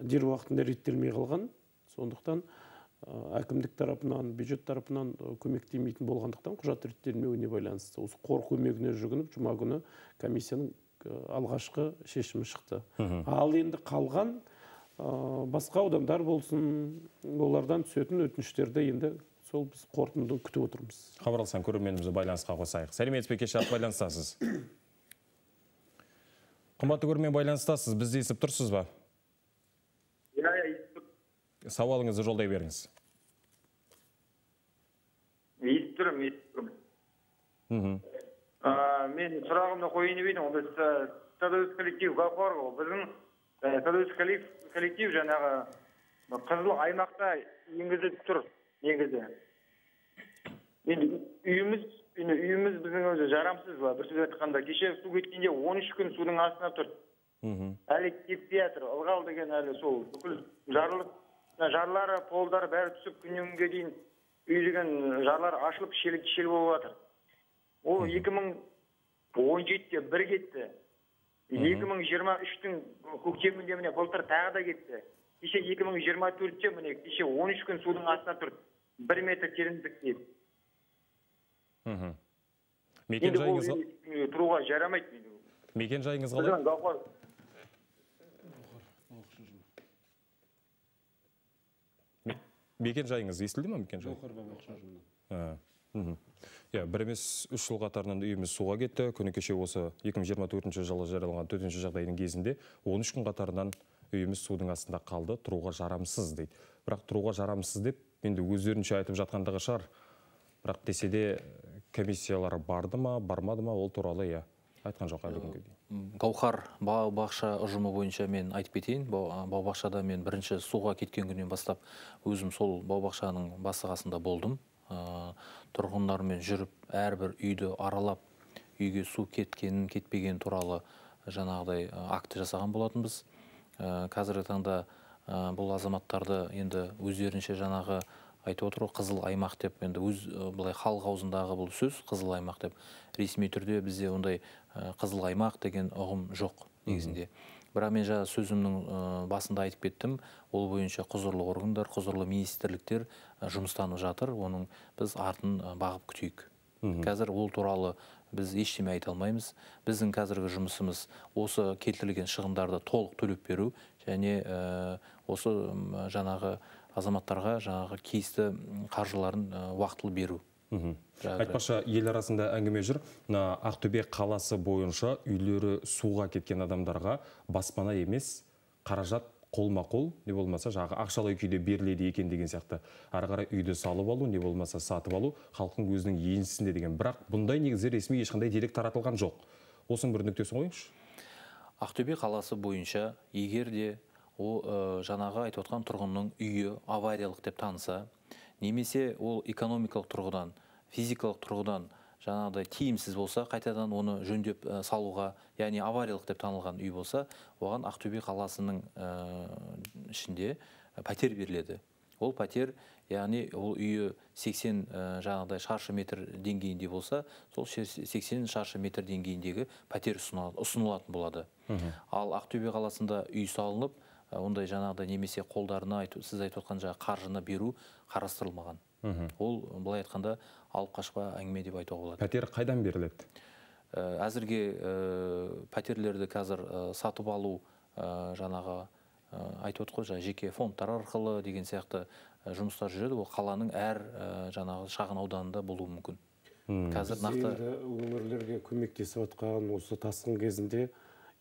дер уақытында реттелмей қалған. Сондықтан әкімдік тарапынан, бюджет тарапынан көмектемейтін болғандықтан құжат реттелмеуіне байланысты. Осы қор көмегіне жүгініп, жұма күні комиссияның алғашқы шешімі шықты. Ал енді қалған басқа аудандар болсын, олардан түсетін өтініштерді енді сол біз қорытынды күтіп отырмыз. Хабарласқан көрерменімізді байланысқа қосайық. Сәлеметсіз бе, кеше байланыстасыз? Қымбатты көрермен, байланыстасыз, бізді естіп тұрсыз ба? Иә, иә, естіп тұрмын. Сауалыңызды жолдай беріңіз. Естіп тұрмын, естіп тұрмын. Мен сұрағымды қойын деймін, біз Садовец коллектив Гаухар, біздің Садовец коллектив жаңағы қызыл аймақта енгізіліп тұр. Негізі. Енді үйіміз, үйіміз біздің өзі жарамсыз ба, бір сөз айтқанда. Кеше су кеткенде он үш күн судың астына тұр. Әлі кетпей жатыр. Ылғал деген әлі сол бүкіл жарлық, жарлары, полдары бәрі түсіп күннен күнге дейін үй деген жарлар ашылып шел болып жатыр. Ол екі мың он жетіде бір кетті. екі мың жиырма үштің көктемінде міне былтыр тағы да кетті. Кеше екі мың жиырма төртте міне кеше он үш күн судың астына тұр. бір метр тереңдік дейді. Мекен жайыңыз тұруға жарамайды. Мекен жайыңыз қалай? Мекен жайыңыз естілді ме, мекен жай? Бір емес үш жыл қатарынан үйіміз суға кетті. Күні кеше осы екі мың жиырма төртінші жылы жарияланған төтенше жағдайдың кезінде он үш күн қатарынан үйіміз судың астында қалды, тұруға жарамсыз дейді. Бірақ тұруға жарамсыз деп, енді өздерінше айтып жатқандығы шығар. Бірақ десе де комиссиялары барды ма, бармады ма, ол туралы я айтқан жоқ әлі күнге дейін. Гаухар бау-бақша ұжымы бойынша мен айтып кетейін. Бау-бақшада мен бірінші суға кеткен күннен бастап өзім сол бау-бақшаның басы қасында болдым. Тұрғындармен жүріп, әрбір үйді аралап, үйге су кеткенін, кетпеген туралы жаңағыдай акті жасаған болатынбыз. Қазіргі таңда бұл азаматтарды енді өздерінше жаңағы айтып отыр, қызыл аймақ деп, енді өз былай халық аузындағы бұл сөз қызыл аймақ деп. Ресми түрде бізде ондай қызыл аймақ деген ұғым жоқ негізінде. Бірақ мен жаңа сөзімнің басында айтып кеттім, ол бойынша құзырлы органдар, құзырлы министрліктер жұмыстанып жатыр, оның біз артын бағып күтейік. Қазір ол туралы біз ештеме айта алмаймыз. Біздің қазіргі жұмысымыз осы келтірілген шығындарды толық төлеп беру және осы жаңағы азаматтарға жаңағы кейісті қаржыларын уақытылы беру. Айтпақшы, ел арасында әңгіме жүр. Ақтөбе қаласы бойынша үйлері суға кеткен адамдарға баспана емес, қаражат қолма-қол, не болмаса жағы ақшалай күйде беріледі екен деген сияқты. Ары қарай үйді салып алу, не болмаса сатып алу, халықтың өзінің еншісінде деген. Бірақ бұндай негізі ресми ешқандай дерек таратылған жоқ. Осының бір нүктесін қойыңызшы. Ақтөбе қаласы бойынша егер де ол жаңағы айтып отқан тұрғынның үйі авариялық деп таныса, немесе ол экономикалық тұрғыдан, физикалық тұрғыдан жаңағыдай тиімсіз болса, қайтадан оны жөндеп салуға, яғни авариялық деп танылған үй болса, оған Ақтөбе қаласының ішінде пәтер беріледі. Ол пәтер, яғни ол үйі сексен жаңағыдай шаршы метр деңгейінде болса, сол сексен шаршы метр деңгейіндегі пәтер ұсынылатын болады. Ал Ақтөбе қаласында үй салынып, ондай жаңағыдай немесе қолдарына сіз айтып отқан жаңағы қаржыны беру қарастырылмаған. Ол былай айтқанда алып қашпа әңгіме деп айтуға болады. Пәтер қайдан беріледі? Әзірге пәтерлерді қазір сатып алу жаңағы айтып отыр ғой, жеке фондтар арқылы деген сияқты жұмыстар жүреді. Ол қаланың әр жаңағы шағын ауданында болуы мүмкін. Қазір нақты өңірлерге көмектесіп отқан осы тасқын кезінде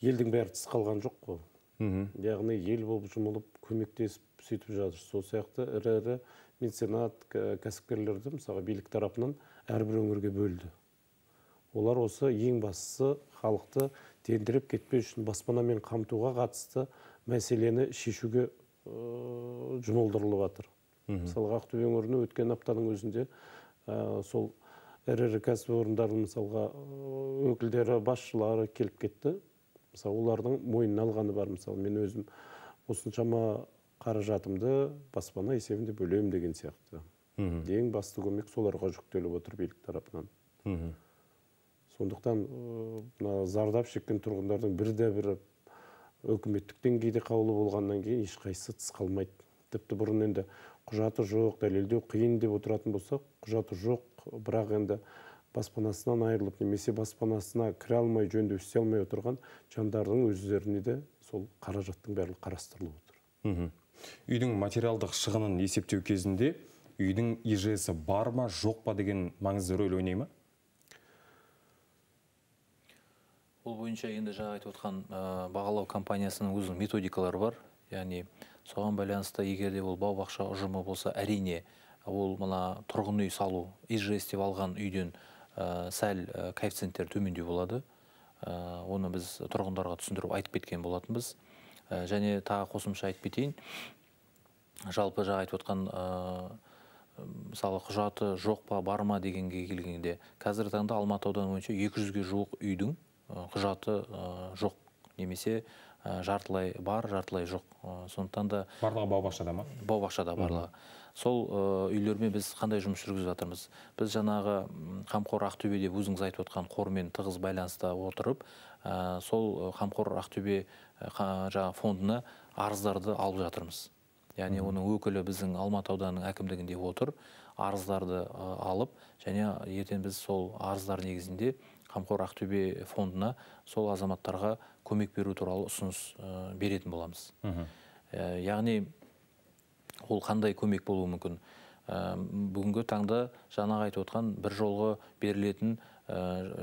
елдің бәрі тыс қалған жоқ қой. Яғни ел болып жұмылып көмектесіп сөйтіп жатыр. Сол сияқты ірі-ірі меценат кәсіпкерлерді мысалы билік тарапынан әрбір өңірге бөлді. Олар осы ең бастысы халықты тендіріп кетпеу үшін баспанамен қамтуға қатысты мәселені шешуге жұмылдырылып жатыр. Мысалға Ақтөбе өңіріне өткен аптаның өзінде сол ірі-ірі кәсіпорындардың мысалға өкілдері, басшылары келіп кетті. Мысалы, олардың мойнына алғаны бар. Мысалы, мен өзім осыншама қаражатымды баспана есебінде бөлем деген сияқты. Ең басты көмек соларға жүктеліп отыр билік тарапынан. Сондықтан зардап шеккен тұрғындардың бірде бірі өкіметтік деңгейде қаулы болғаннан кейін ешқайсысы тыс қалмайды. Тіпті бұрын енді құжаты жоқ, дәлелдеу қиын деп отыратын болсақ, құжаты жоқ, бірақ енді баспанасынан айырылып, немесе баспанасына кіре алмай, жөндеу істей алмай отырған жандардың өздеріне де сол қаражаттың барлығы қарастырылып отыр. Үйдің материалдық шығынын есептеу кезінде үйдің и жэ эс-і бар ма, жоқ па деген маңызды рөл ойнай ма? Бұл бойынша енді жаңа айтып отқан бағалау компаниясының өзінің методикалары бар. Яғни соған байланысты егер де ол бау-бақша ұжымы болса, әрине ол мына тұрғын үй салу и жэ эс деп алған үйден сәл коэффициенттер төмендеу болады. Оны біз тұрғындарға түсіндіріп айтып кеткен болатынбыз. Және тағы қосымша айтып кетейін. Жалпы жаңа айтып отқан мысалы құжаты жоқ па, бар ма дегенге келгенде, қазіргі таңда Алматы ауданы бойынша екі жүзге жуық үйдің құжаты жоқ, немесе жартылай бар, жартылай жоқ. Сондықтан да барлығы бау-бақшада ма? Бау-бақшада барлығы. Сол үйлермен біз қандай жұмыс жүргізіп жатырмыз? Біз жаңағы Қамқор Ақтөбе деп өзіңіз айтып отқан қормен тығыз байланыста отырып, сол Қамқор Ақтөбе жаңағы фондына арыздарды алып жатырмыз. Яғни оның өкілі біздің Алматы ауданының әкімдігінде отыр, арыздарды алып, және ертең біз сол арыздар негізінде Қамқор Ақтөбе фондына сол азаматтарға көмек беру туралы ұсыныс беретін боламыз. Яғни ол қандай көмек болуы мүмкін? Бүгінгі таңда жаңағы айтып отқан бір жолғы берілетін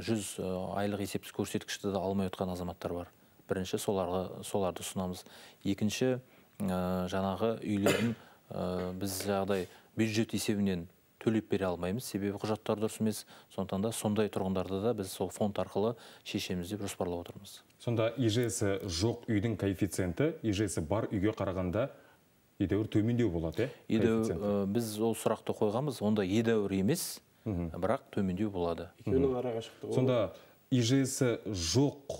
жүз айлық есептік көрсеткішті де алмай отқан азаматтар бар. Бірінші соларды ұсынамыз. Екінші жаңағы үйлерін біз жағдай бюджет есебінен төлеп бере алмаймыз, себебі құжаттар дұрыс емес. Сондықтан да сондай тұрғындарды да біз сол фонд арқылы шешеміз деп жоспарлап отырмыз. Сонда и жэ эс-і жоқ үйдің коэффициенті и жэ эс-і бар үйге қарағанда едәуір төмендеу болады, е? Біз ол сұрақты қойғанбыз, онда едәуір емес, бірақ төмендеу болады. Сонда и жэ эс-і жоқ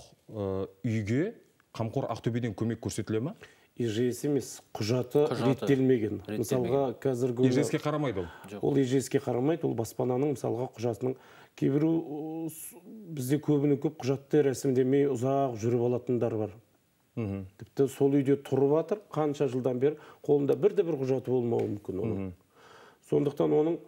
үйге Қамқор Ақтөбеден көмек көрсетіле ма? и жэ эс емес, құжаты реттелмеген. Мысалға, қазіргі и жэ эс-ке қарамайды ол. Ол и жэ эс-ке қарамайды, ол баспананың мысалға құжатының кейбірі бізде көбінің көп құжатты рәсімдемей ұзақ жүріп алатындар бар. Тіпті сол үйде тұрып жатыр, қанша жылдан бері қолында бірде-бір құжаты болмауы мүмкін оның. Сондықтан оның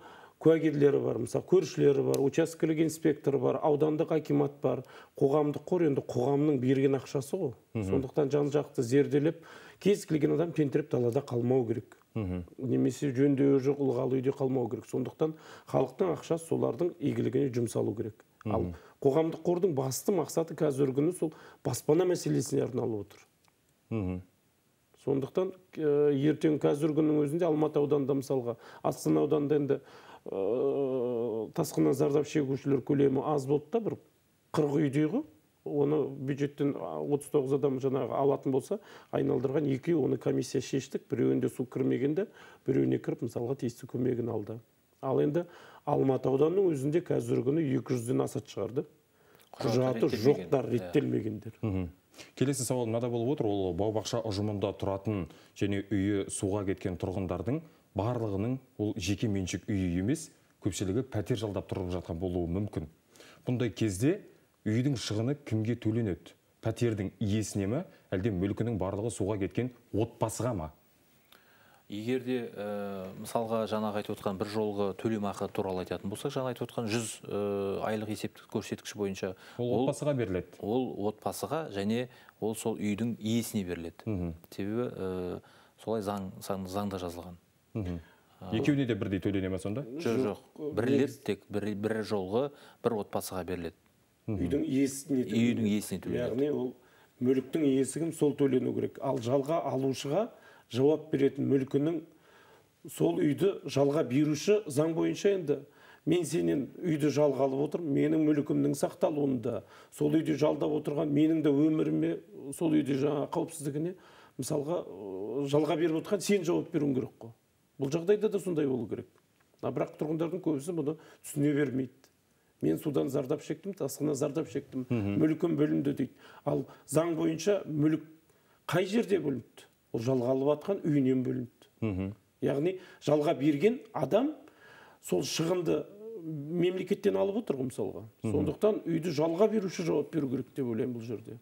куәгерлері бар, мысалы көршілері бар, учаскелік инспекторы бар, аудандық акимат бар, қоғамдық қор, енді қоғамның берген ақшасы ғой. Сондықтан жан-жақты зерделеп, кез келген адам тентіреп далада қалмау керек. немесе жөндеуі жоқ ылғалы үйде қалмау керек. Сондықтан халықтың ақшасы солардың игілігіне жұмсалу керек. Ал қоғамдық қордың басты мақсаты қазіргі күні сол баспана мәселесіне арналып отыр. Сондықтан ертең қазіргі күннің өзінде Алматы ауданында мысалға, Астана ауданында енді тасқыннан зардап шегушілер көлемі аз болды да, бір қырық үйдегі оны бюджеттен отыз тоғыз адам жаңағы алатын болса, айналдырған екі оны комиссия шештік, біреуінде су кірмегенде, біреуіне кіріп мысалға тиісті көмегін алды. Ал енді Алматы ауданының өзінде қазіргі күні екі жүзден асат шығарды. Құжаты жоқтар, реттелмегендер. Келесі сауал мынада болып отыр, ол бау-бақша ұжымында тұратын және үйі суға кеткен тұрғындардың барлығының ол жеке меншік үйі емес, көпшілігі пәтер жалдап тұрып жатқан болуы мүмкін. Бұндай кезде үйдің шығыны кімге төленеді? Пәтердің иесіне ме, әлде мүлкінің барлығы суға кеткен отбасыға ма? Егерде мысалға жаңағы айтып отқан бір жолғы төлемақы туралы айтатын болсақ, жаңа айтып отқан жүз айлық есептік көрсеткіш бойынша ол отбасыға беріледі. Ол отбасыға және ол сол үйдің иесіне беріледі. Себебі солай заңда жазылған. Екеуіне де бірдей төлене ме сонда? Жоқ, жоқ. Бірлеп тек бір жолғы бір отбасыға беріледі. Үйдің иесіне төленеді. Үйдің иесіне төленеді. Яғни ол мүліктің иесі кім, сол төлену керек. Ал жалға алушыға жауап беретін мүлкінің сол үйді жалға беруші заң бойынша енді мен сенен үйді жалға алып отырмын, менің мүлкімнің сақталуында, сол үйде жалдап отырған менің де өміріме, сол үйде жаңа қауіпсіздігіне мысалға жалға беріп отырған сен жауап беруің керек қой. Бұл жағдайда да сондай болу керек. Бірақ тұрғындардың көбісі бұны түсіне бермейді. Мен судан зардап шектім, тасқыннан зардап шектім, мүлкім бөлінді дейді. Ал заң бойынша мүлік қай жерде бөлінді? Ол жалға алып атқан үйінен бөлінді. Яғни жалға берген адам сол шығынды мемлекеттен алып отыр мысалға. Сондықтан үйді жалға беруші жауап беру керек деп ойлаймын бұл жерде.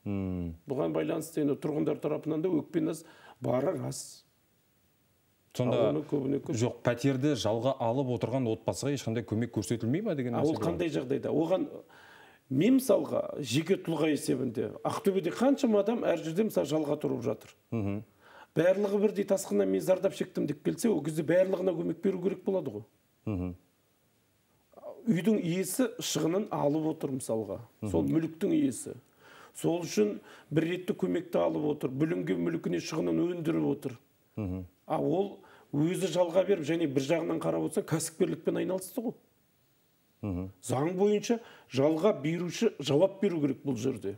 Бұған байланысты тұрғындар тарапынан да өкпе-наз бары рас. Сонда жоқ, пәтерді жалға алып отырған отбасыға ешқандай көмек көрсетілмей ме деген нәрсе? Ол қандай жағдайда? Оған мен мысалға жеке тұлға есебінде Ақтөбеде қаншама адам әр жерде мысалы жалға тұрып жатыр. Барлығы бірдей тасқыннан мен зардап шектім деп келсе, ол кезде барлығына көмек беру керек болады ғой. Үйдің иесі шығынын алып отыр мысалға. Сол мүліктің иесі. Сол үшін бір ретті көмекті алып отыр. Бүлінген мүлкіне шығынын өндіріп отыр. А ол өзі жалға беріп, және бір жағынан қарап отырса, кәсіпкерлікпен айналысты ғой. Заң бойынша жалға беруші жауап беру керек бұл жерде.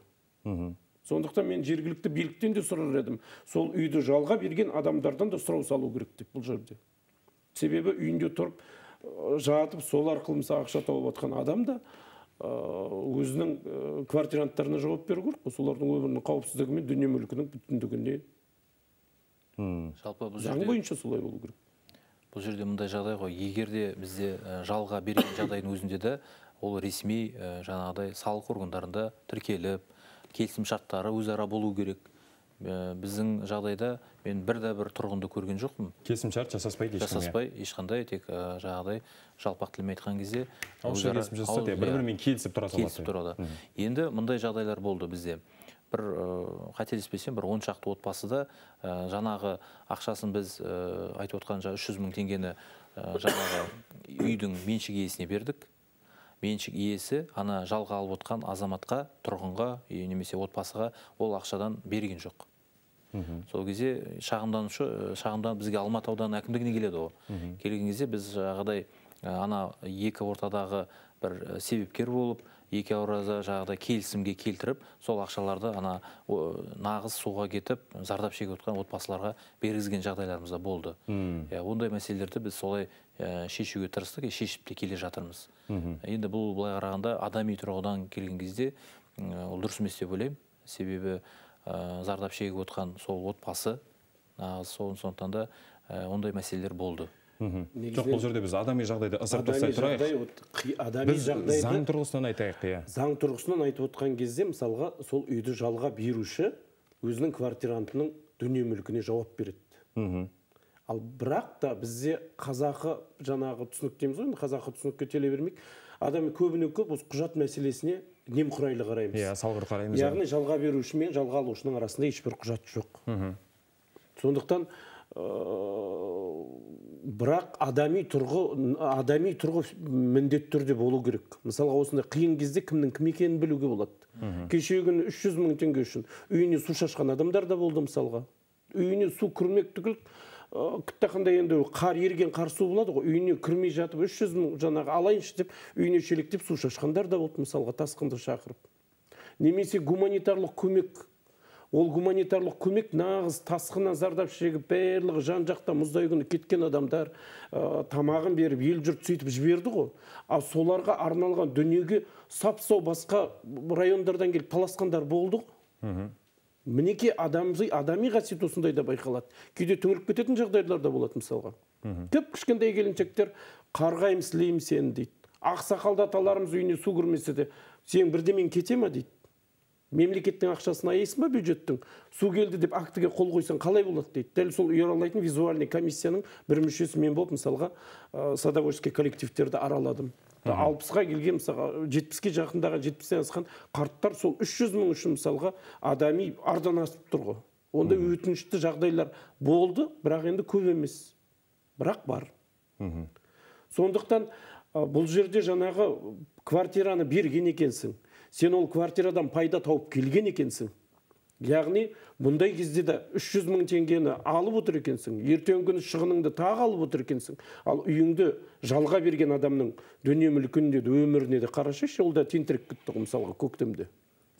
Сондықтан мен жергілікті биліктен де сұрар едім. Сол үйді жалға берген адамдардан да сұрау салу керек деп бұл жерде. Себебі үйінде тұрып, жатып, сол арқылы мысалы ақша тауып отқан адам да өзінің квартиранттарына жауап беру керек. Солардың өмірінің қауіпсіздігі мен дүние мүлкінің бүтіндігіне. Заң бойынша солай болу керек. Бұл жерде мұндай жағдай ғой. Егерде бізде жалға берген жағдайдың өзінде де ол ресми жаңағыдай салық органдарында тіркеліп, келісім шарттары өзара болу керек. Біздің жағдайда мен бірде бір тұрғынды көрген жоқпын. Келісім шарт жасаспайды ешқандай. Жасаспай, ешқандай, тек жаңағыдай жалпақ тілмен айтқан кезде ауызша келісім жасасады, бір-бірімен келісіп тұра салады. Келісіп тұрады. Енді мұндай жағдайлар болды бізде. Бір қателеспесем, бір он шақты отбасыда жаңағы ақшасын біз айтып отқан үш жүз мың теңгені жаңағы үйдің меншік иесіне бердік. Меншік иесі ана жалға алып отқан азаматқа, тұрғынға, немесе отбасыға ол ақшадан берген жоқ. Сол кезде шағымданушы, шағымдан бізге Алматы ауданы әкімдігіне келеді ғой. Келген кезде біз жағдай ана екі ортадағы бір себепкер болып, екі аурада жағдай келісімге келтіріп, сол ақшаларды ана нағыз суға кетіп, зардап шегіп отқан отбасыларға бергізген жағдайларымыз да болды. Ондай мәселелерді біз солай шешуге тырыстық, шешіп те келе жатырмыз. Енді бұл былай қарағанда адами тұрғыдан келген кезде ол дұрыс емес деп ойлаймын. Себебі зардап шегіп отқан сол отбасы, сондықтан да ондай мәселелер болды. Жоқ, бұл жерде біз адами жағдайды ысырып тастай тұрайық. Біз заң тұрғысынан айтайық. Заң тұрғысынан айтып отқан кезде, мысалға, сол үйді жалға беруші өзінің квартирантының дүние мүлкіне жауап береді. Ал бірақ та бізде қазақы жаңағы түсінік дейміз ғой, қазақы түсінікке теле бермейік. Адам көбіне көп осы құжат мәселесіне немқұрайлы қараймыз. Иә, салғыр қараймыз. Яғни жалға беруші мен жалға алушының арасында ешбір құжат жоқ. Сондықтан бірақ адами тұрғы адами тұрғы міндетті түрде болу керек. Мысалға осындай қиын кезде кімнің кім екенін білуге болады. Кеше күні үш жүз мың теңге үшін үйіне су шашқан адамдар да болды мысалға. Үйіне су кірмек түгіл, күттақандай енді қар ерген қар су болады ғой, үйіне кірмей жатып үш жүз мың жаңағы алайыншы деп үйіне шелектеп су шашқандар да болды мысалға, тасқынды шақырып. Немесе гуманитарлық көмек. Ол гуманитарлық көмек нағыз тасқыннан зардап шегіп, барлығы жан жақта мұздай күні кеткен адамдар тамағын беріп, ел жұрт сөйтіп жіберді ғой. А соларға арналған дүниеге сап-сау басқа райондардан келіп таласқандар болды ғой. Мінеке адамзый адами қасиет осындай да байқалады. Кейде түңіліп кететін жағдайлар да болады мысалға. Кіп кішкентай келіншектер қарғайым сілейім сені дейді. Ақсақалды аталарымыз үйіне су кірмесе де, сен бірдемен кете ма дейді. Мемлекеттің ақшасын аяйсың ба бюджеттің? Су келді деп актіге қол қойсан қалай болады дейді. Дәл сол ұйралайтын визуальный комиссияның бір мүшесі мен болып мысалға садоводческий коллективтерді араладым. алпысқа келген мысалға жетпіске жақындаған жетпістен асқан қарттар сол үш жүз мың үшін мысалға адами ардан асып тұр ғой. Онда өтінішті жағдайлар болды, бірақ енді көп емес. Бірақ бар. Сондықтан бұл жерде жаңағы квартираны берген екенсің. Сен ол квартирадан пайда тауып келген екенсің. Яғни, бұндай кезде де үш жүз мың теңгені алып отыр екенсің. Ертең күні шығыныңды тағы алып отыр екенсің. Ал үйіңді жалға берген адамның дүние мүлкінде де өміріне де қарашайшы, ол да тентірек кетті мысалға көктемде.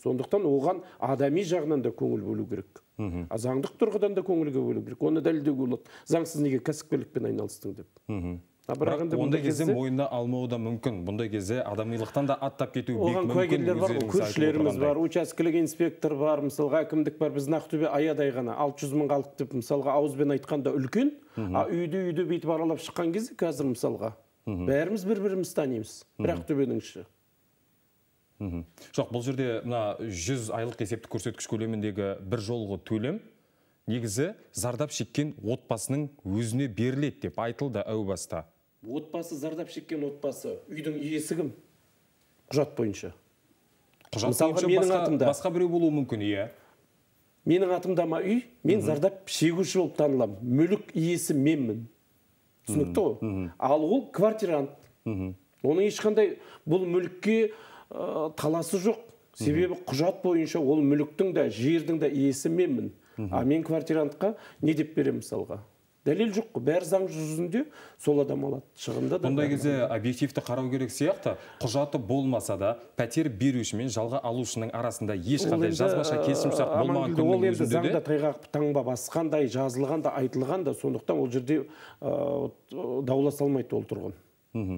Сондықтан оған адами жағынан да көңіл бөлу керек. А заңдық тұрғыдан да көңілге бөлу керек. Оны дәлелдеуге болады. Заңсыз неге кәсіпкерлікпен айналыстың деп. Ондай кезде мойнына алмауы да мүмкін. Бұндай кезде адамилықтан да аттап кетуі бек мүмкін. Оған куәгерлер бар, көршілеріміз бар, учаскелік инспектор бар, мысалға әкімдік бар. Біз Ақтөбе аядай ғана алты жүз мың халық деп мысалға ауызбен айтқанда үлкен, а үйді үйді бүйтіп аралап шыққан кезде қазір мысалға бәріміз бір-біріміз танимыз. Бір Ақтөбенің іші. Жоқ, бұл жерде мына жүз айлық есептік көрсеткіш көлеміндегі бір жолғы төлем негізі зардап шеккен отбасының өзіне беріледі деп айтылды әу баста. Отбасы зардап шеккен отбасы, үйдің иесі кім? Құжат бойынша. Құжат бойынша басқа біреу болуы мүмкін, иә. Менің атымда ма үй, мен зардап шегуші болып танылам. Мүлік иесі менмін. Түсінікті ғой? Ал ол квартирант. Оның ешқандай бұл мүлікке таласы жоқ. Себебі құжат бойынша ол мүліктің да, жердің да иесі менмін. А мен квартирантқа не деп берем мысалға? Дәлел жоқ қой, бәрі заң жүзінде сол адам алады. Шығында да. Бұндай кезде объективті қарау керек сияқты, құжаты болмаса да, пәтер беруші мен жалға алушының арасында ешқандай жазбаша келісімшарт болмаған күннің өзінде де. Заңда тайғақ таңба басқандай, жазылған да, айтылған да, сондықтан ол жерде дауласа алмайды ол тұрғын.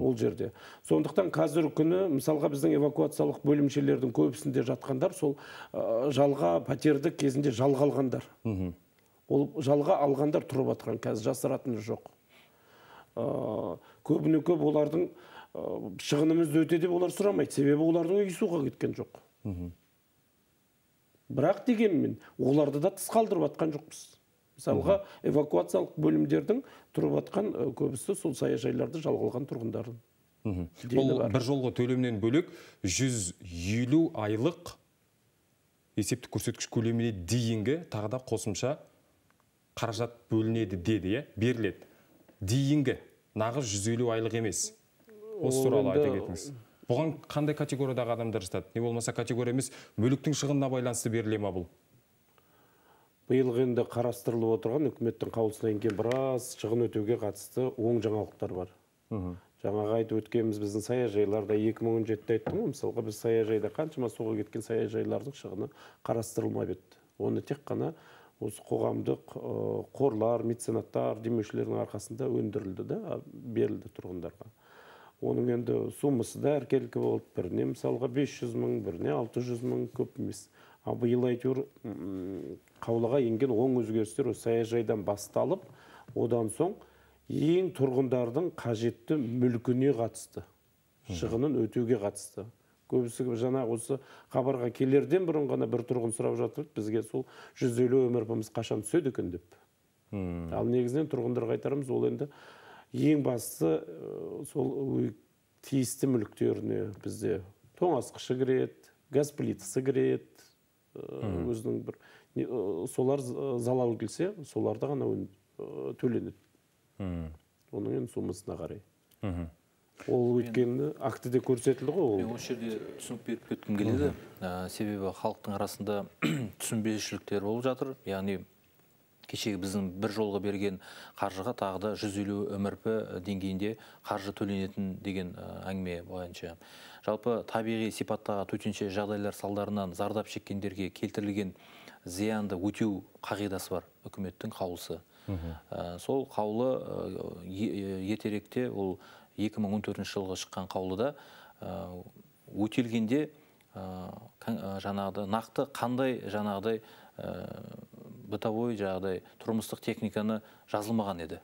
Ол жерде. Сондықтан қазір күні, мысалға біздің эвакуациялық бөлімшелердің көбісінде жатқандар, сол жалға пәтерді кезінде жалға алғандар. Ол жалға алғандар тұрып атқан, қазір жасыратыны жоқ. Көбіне көп олардың шығынымызды өте деп олар сұрамайды, себебі олардың үй суға кеткен жоқ. Бірақ дегенмен, оларды да тыс қалдырып атқан жоқпыз. Мысалға, эвакуациялық бөлімдердің тұрып атқан көбісі сол саяжайларды жалға алған тұрғындардың. Бұл бір жолғы төлемнен бөлек жүз елу айлық есептік көрсеткіш көлеміне дейінгі тағы да қосымша қаражат бөлінеді деді, беріледі. Дейінгі, нағыз жүз елу айлық емес. Осы туралы айта кетіңіз. Бұған қандай категориядағы адамдар жатады? Не болмаса категория емес, мүліктің шығынына байланысты беріле ма бұл? Биылғы енді қарастырылып отырған үкіметтің қаулысына енген біраз шығын өтеуге қатысты оң жаңалықтар бар. Жаңағы айтып өткеніміз біздің саяжайларда екі мың он жетіде айттым ғой, мысалға біз саяжайда қаншама суға кеткен саяжайлардың шығыны қарастырылмап еді. Оны тек қана осы қоғамдық қорлар, меценаттар, демеушілердің арқасында өндірілді да, берілді тұрғындарға. Оның енді суммасы да әркелкі болып, біріне мысалға бес жүз мың, біріне алты жүз мың, көп емес. А биыл әйтеуір қаулыға енген оң өзгерістер осы саяжайдан басталып, одан соң ең тұрғындардың қажетті мүлкіне қатысты, шығынын өтеуге қатысты. Көбісі жаңа осы хабарға келерден бұрын ғана бір тұрғын сұрап жатыр, бізге сол жүз елу өмірпіміз қашан түседі екен деп. Ал негізінен тұрғындарға айтарымыз, ол енді ең басты сол тиісті мүліктеріне бізде тоңазытқышы кіреді, газ плитасы кіреді, өзінің бір солар залал келсе, соларды ғана төленеді. Оның енді суммасына қарай. Ол өткені актіде көрсетілді ғой. Мен осы жерде түсінік беріп кеткім келеді. Себебі халықтың арасында түсінбеушіліктер болып жатыр. Яғни кешегі біздің бір жолға берген қаржыға тағы да жүз елу МРП деңгейінде қаржы төленетін деген әңгіме бойынша. Жалпы табиғи сипаттағы төтенше жағдайлар салдарынан зардап шеккендерге келтірілген зиянды өтеу қағидасы бар, үкіметтің қаулысы. Сол қаулы ертеректе, ол екі мың он төртінші жылғы шыққан қаулыда өтелгенде жаңағыдай нақты қандай жаңағыдай бытовой жағдай, тұрмыстық техниканы жазылмаған еді.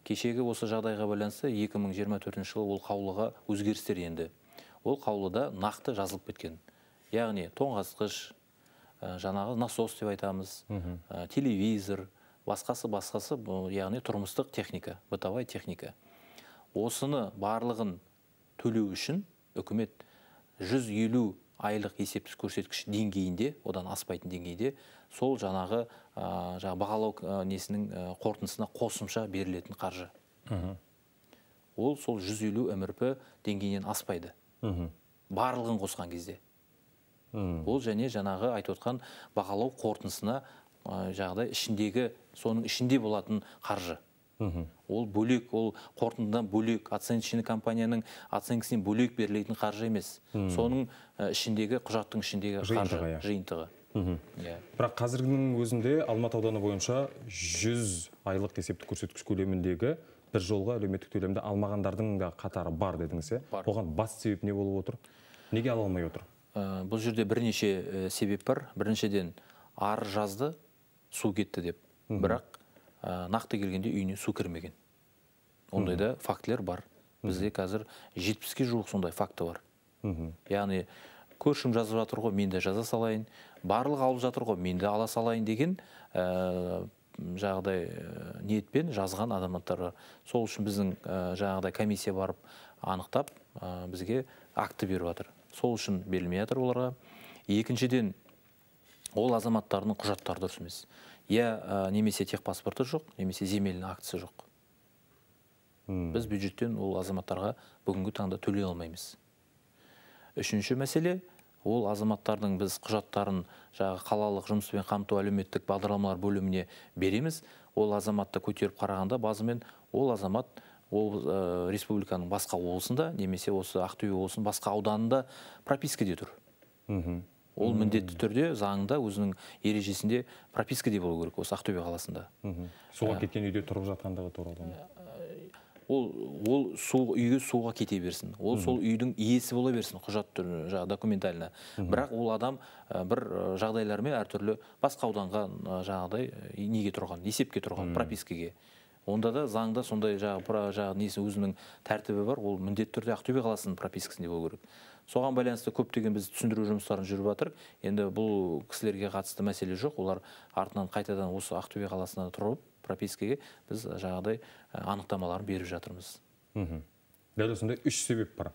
Кешегі осы жағдайға байланысты екі мың жиырма төртінші жылы ол қаулыға өзгерістер енді. Ол қаулыда нақты жазылып кеткен. Яғни тоңазытқыш, жаңағы насос деп айтамыз, телевизор, басқасы-басқасы, яғни тұрмыстық техника, бытовой техника. Осыны барлығын төлеу үшін үкімет жүз елу айлық есептік көрсеткіш деңгейінде, одан аспайтын деңгейде, сол жаңағы бағалау несінің қорытындысына қосымша берілетін қаржы. Ол сол жүз елу МРП деңгейінен аспайды. Барлығын қосқан кезде. Ол және жаңағы айтып отқан бағалау қорытындысына жағдай ішіндегі, соның ішінде болатын қаржы. Ол бөлек, ол қорытындыдан бөлек, оценочный компанияның оценкісінен бөлек берілетін қаржы емес. Соның ішіндегі, құжаттың ішіндегі қаржы, жиынтығы. Бірақ қазіргінің өзінде Алматы ауданы бойынша жүз айлық есептік көрсеткіш көлеміндегі бір жолға әлеуметтік төлемді алмағандардың да қатары бар дедіңіз. Оған басты себеп не болып отыр? Неге ала алмай отыр? Бұл жерде бірнеше себеп бар. Біріншіден ар жазды, су кетті деп. Бірақ нақты келгенде үйіне су кірмеген. Ондайда фактілер бар. Бізде қазір жетпіске жуық сондай факті бар. Яғни көршім жазып жатыр ғой, мен де жаза салайын, барлық алып жатыр ғой, мен де ала салайын деген жағдай ниетпен жазған адамдары. Сол үшін біздің жағдай комиссия барып анықтап, бізге акті беріп жатыр. Сол үшін берілмей жатыр оларға. Екіншіден, ол азаматтардың құжаттары дұрыс емес. Я немесе техпаспорты жоқ, немесе земельный актісі жоқ. Біз бюджеттен ол азаматтарға бүгінгі таңда төлей алмаймыз. Үшінші мәселе, ол азаматтардың біз құжаттарын жаңағы қалалық жұмыспен қамту әлеуметтік бағдарламалар бөліміне береміз. Ол азаматты көтеріп қарағанда базымен ол азамат ол республиканың басқа облысында, немесе осы Ақтөбе облысының басқа ауданында пропискаде тұр. Ол міндетті түрде заңда өзінің ережесінде пропискаде болу керек осы Ақтөбе қаласында. Суға кеткен үйде тұрып жатқандығы туралы. Ол үйге суға кете берсін. Ол сол үйдің иесі бола берсін, құжат түрі, документально. Бірақ ол адам бір жағдайлармен әртүрлі басқа ауданға жағдай неге тұрған, есепке тұрған, пропискаге. Онда да заңда сондай өзінің тәртібі бар, ол міндетті түрде Ақтөбе қаласының пропискасында болу керек. Соған байланысты көптеген біз түсіндіру жұмыстарын жүріп жатыр. Енді бұл кісілерге қатысты мәселе жоқ. Олар артынан қайтадан осы Ақтөбе қаласына тұрып, пропискаге біз жағдай анықтамаларын беріп жатырмыз. Дәл осындай үш себеп бар.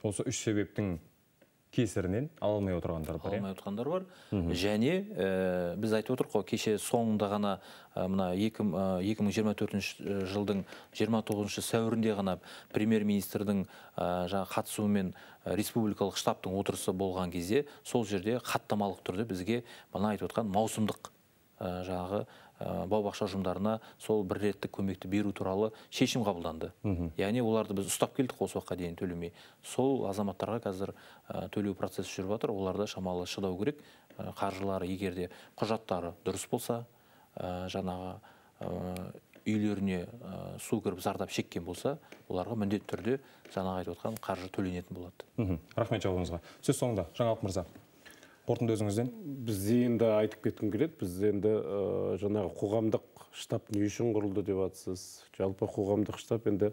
Осы үш себептің кесірінен ала алмай отырғандар бар. Алмай отырғандар бар. Және біз айтып отырмыз ғой, кеше соңында ғана мына екі мың жиырма төртінші жылдың жиырма тоғызыншы сәуірінде ғана премьер-министрдің қатысуымен республикалық штабтың отырысы болған кезде сол жерде хаттамалық түрде бізге мына айтып отқан маусымдық жаңағы бау-бақша ұжымдарына сол бір реттік көмекті беру туралы шешім қабылданды. Яғни оларды біз ұстап келдік осы уақытқа дейін төлемей. Сол азаматтарға қазір төлеу процесі жүріп жатыр. Оларда шамалы шыдау керек. Қаржылары егерде құжаттары дұрыс болса, жаңағы үйлеріне су кіріп зардап шеккен болса, оларға міндетті түрде жаңағы айтып отқан қаржы төленетін болады. Рахмет жауабыңызға. Сөз соңында Жаңалық мырза. Қорытынды өзіңізден? Біз енді айтып кеткім келеді. Біз енді жаңағы қоғамдық штаб не үшін құрылды деп жатсыз. Жалпы қоғамдық штаб енді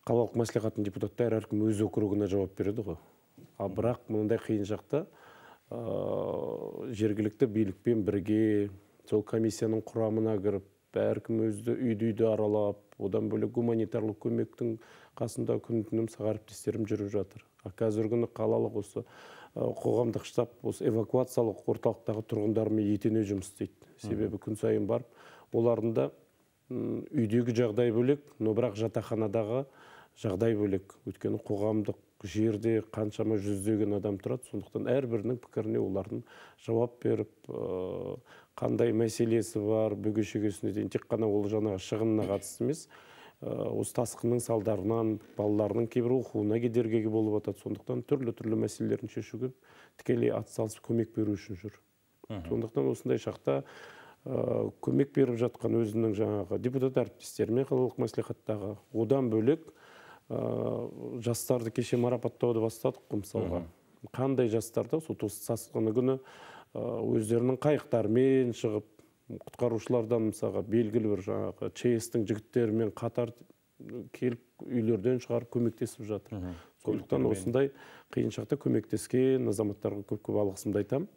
қалалық мәслихаттың депутаттары әркім өз округына жауап береді ғой. Ал бірақ мынандай қиын жақта жергілікті билікпен бірге сол комиссияның құрамына кіріп, әркім өзді үйді-үйді аралап, одан бөлек гуманитарлық көмектің қасында күн-түнім сағарыптестерім жүріп жатыр. Қазіргі күні қалалық осы қоғамдық штаб осы эвакуациялық орталықтағы тұрғындармен етене жұмыс істейді. Себебі күн сайын барып, олардың да үйдегі жағдай бөлек, но бірақ жатақханадағы жағдай бөлек. Өйткені қоғамдық жерде қаншама жүздеген адам тұрады, сондықтан әрбірінің пікіріне олардың жауап беріп, қандай мәселесі бар, бөгешегесіне дейін тек қана ол жаңағы шығынына қатысты емес, осы тасқынның салдарынан балаларының кейбір оқуына кедергі болып жатады. Сондықтан түрлі-түрлі мәселелерін шешуге тікелей атсалысып көмек беру үшін жүр. Сондықтан осындай шақта көмек беріп жатқан өзінің жаңағы депутат әріптестерімен қалалық мәслихаттағы, одан бөлек жастарды кеше марапаттауды бастадық, мысалға. Қандай жастарды сол тасқыны күні өздерінің қайықтарымен шығып, құтқарушылардан мысалға белгілі бір жаңағы ЧС-тің жігіттерімен қатар келіп үйлерден шығарып көмектесіп жатыр. Сондықтан осындай қиын шақта көмектескен азаматтарға көп-көп алғысымды айтамын.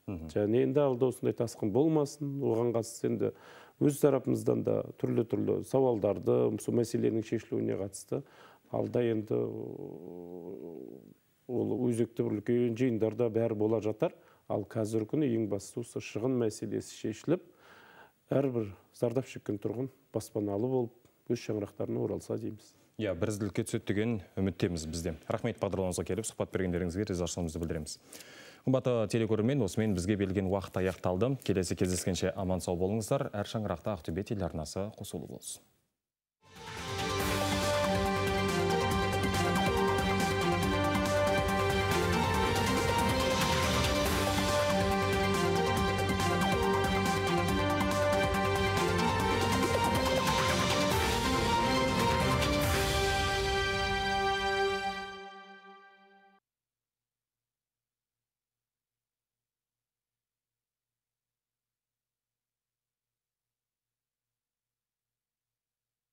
Және енді алда осындай тасқын болмасын, оған қатысты енді өз тарапымыздан да түрлі-түрлі сауалдарды, сол мәселенің шешілуіне қатысты алда енді ол өзекті бір үлкен жиындарда бәрі бола жатар. Ал қазіргі күні ең бастысы осы шығын мәселесі шешіліп, әрбір зардап шеккен тұрғын баспаналы болып, өз шаңырақтарына оралса дейміз. Иә, бірізділікке түседі деген үміттеміз бізде. Рахмет, бағдарламамызға келіп, сұхбат бергендеріңізге ризашылығымызды білдіреміз. Қымбатты телекөрермен, осымен бізге берілген уақыт аяқталды. Келесі кездескенше аман сау болыңыздар. Әр шаңырақта Ақтөбе телеарнасы қосулы болсын.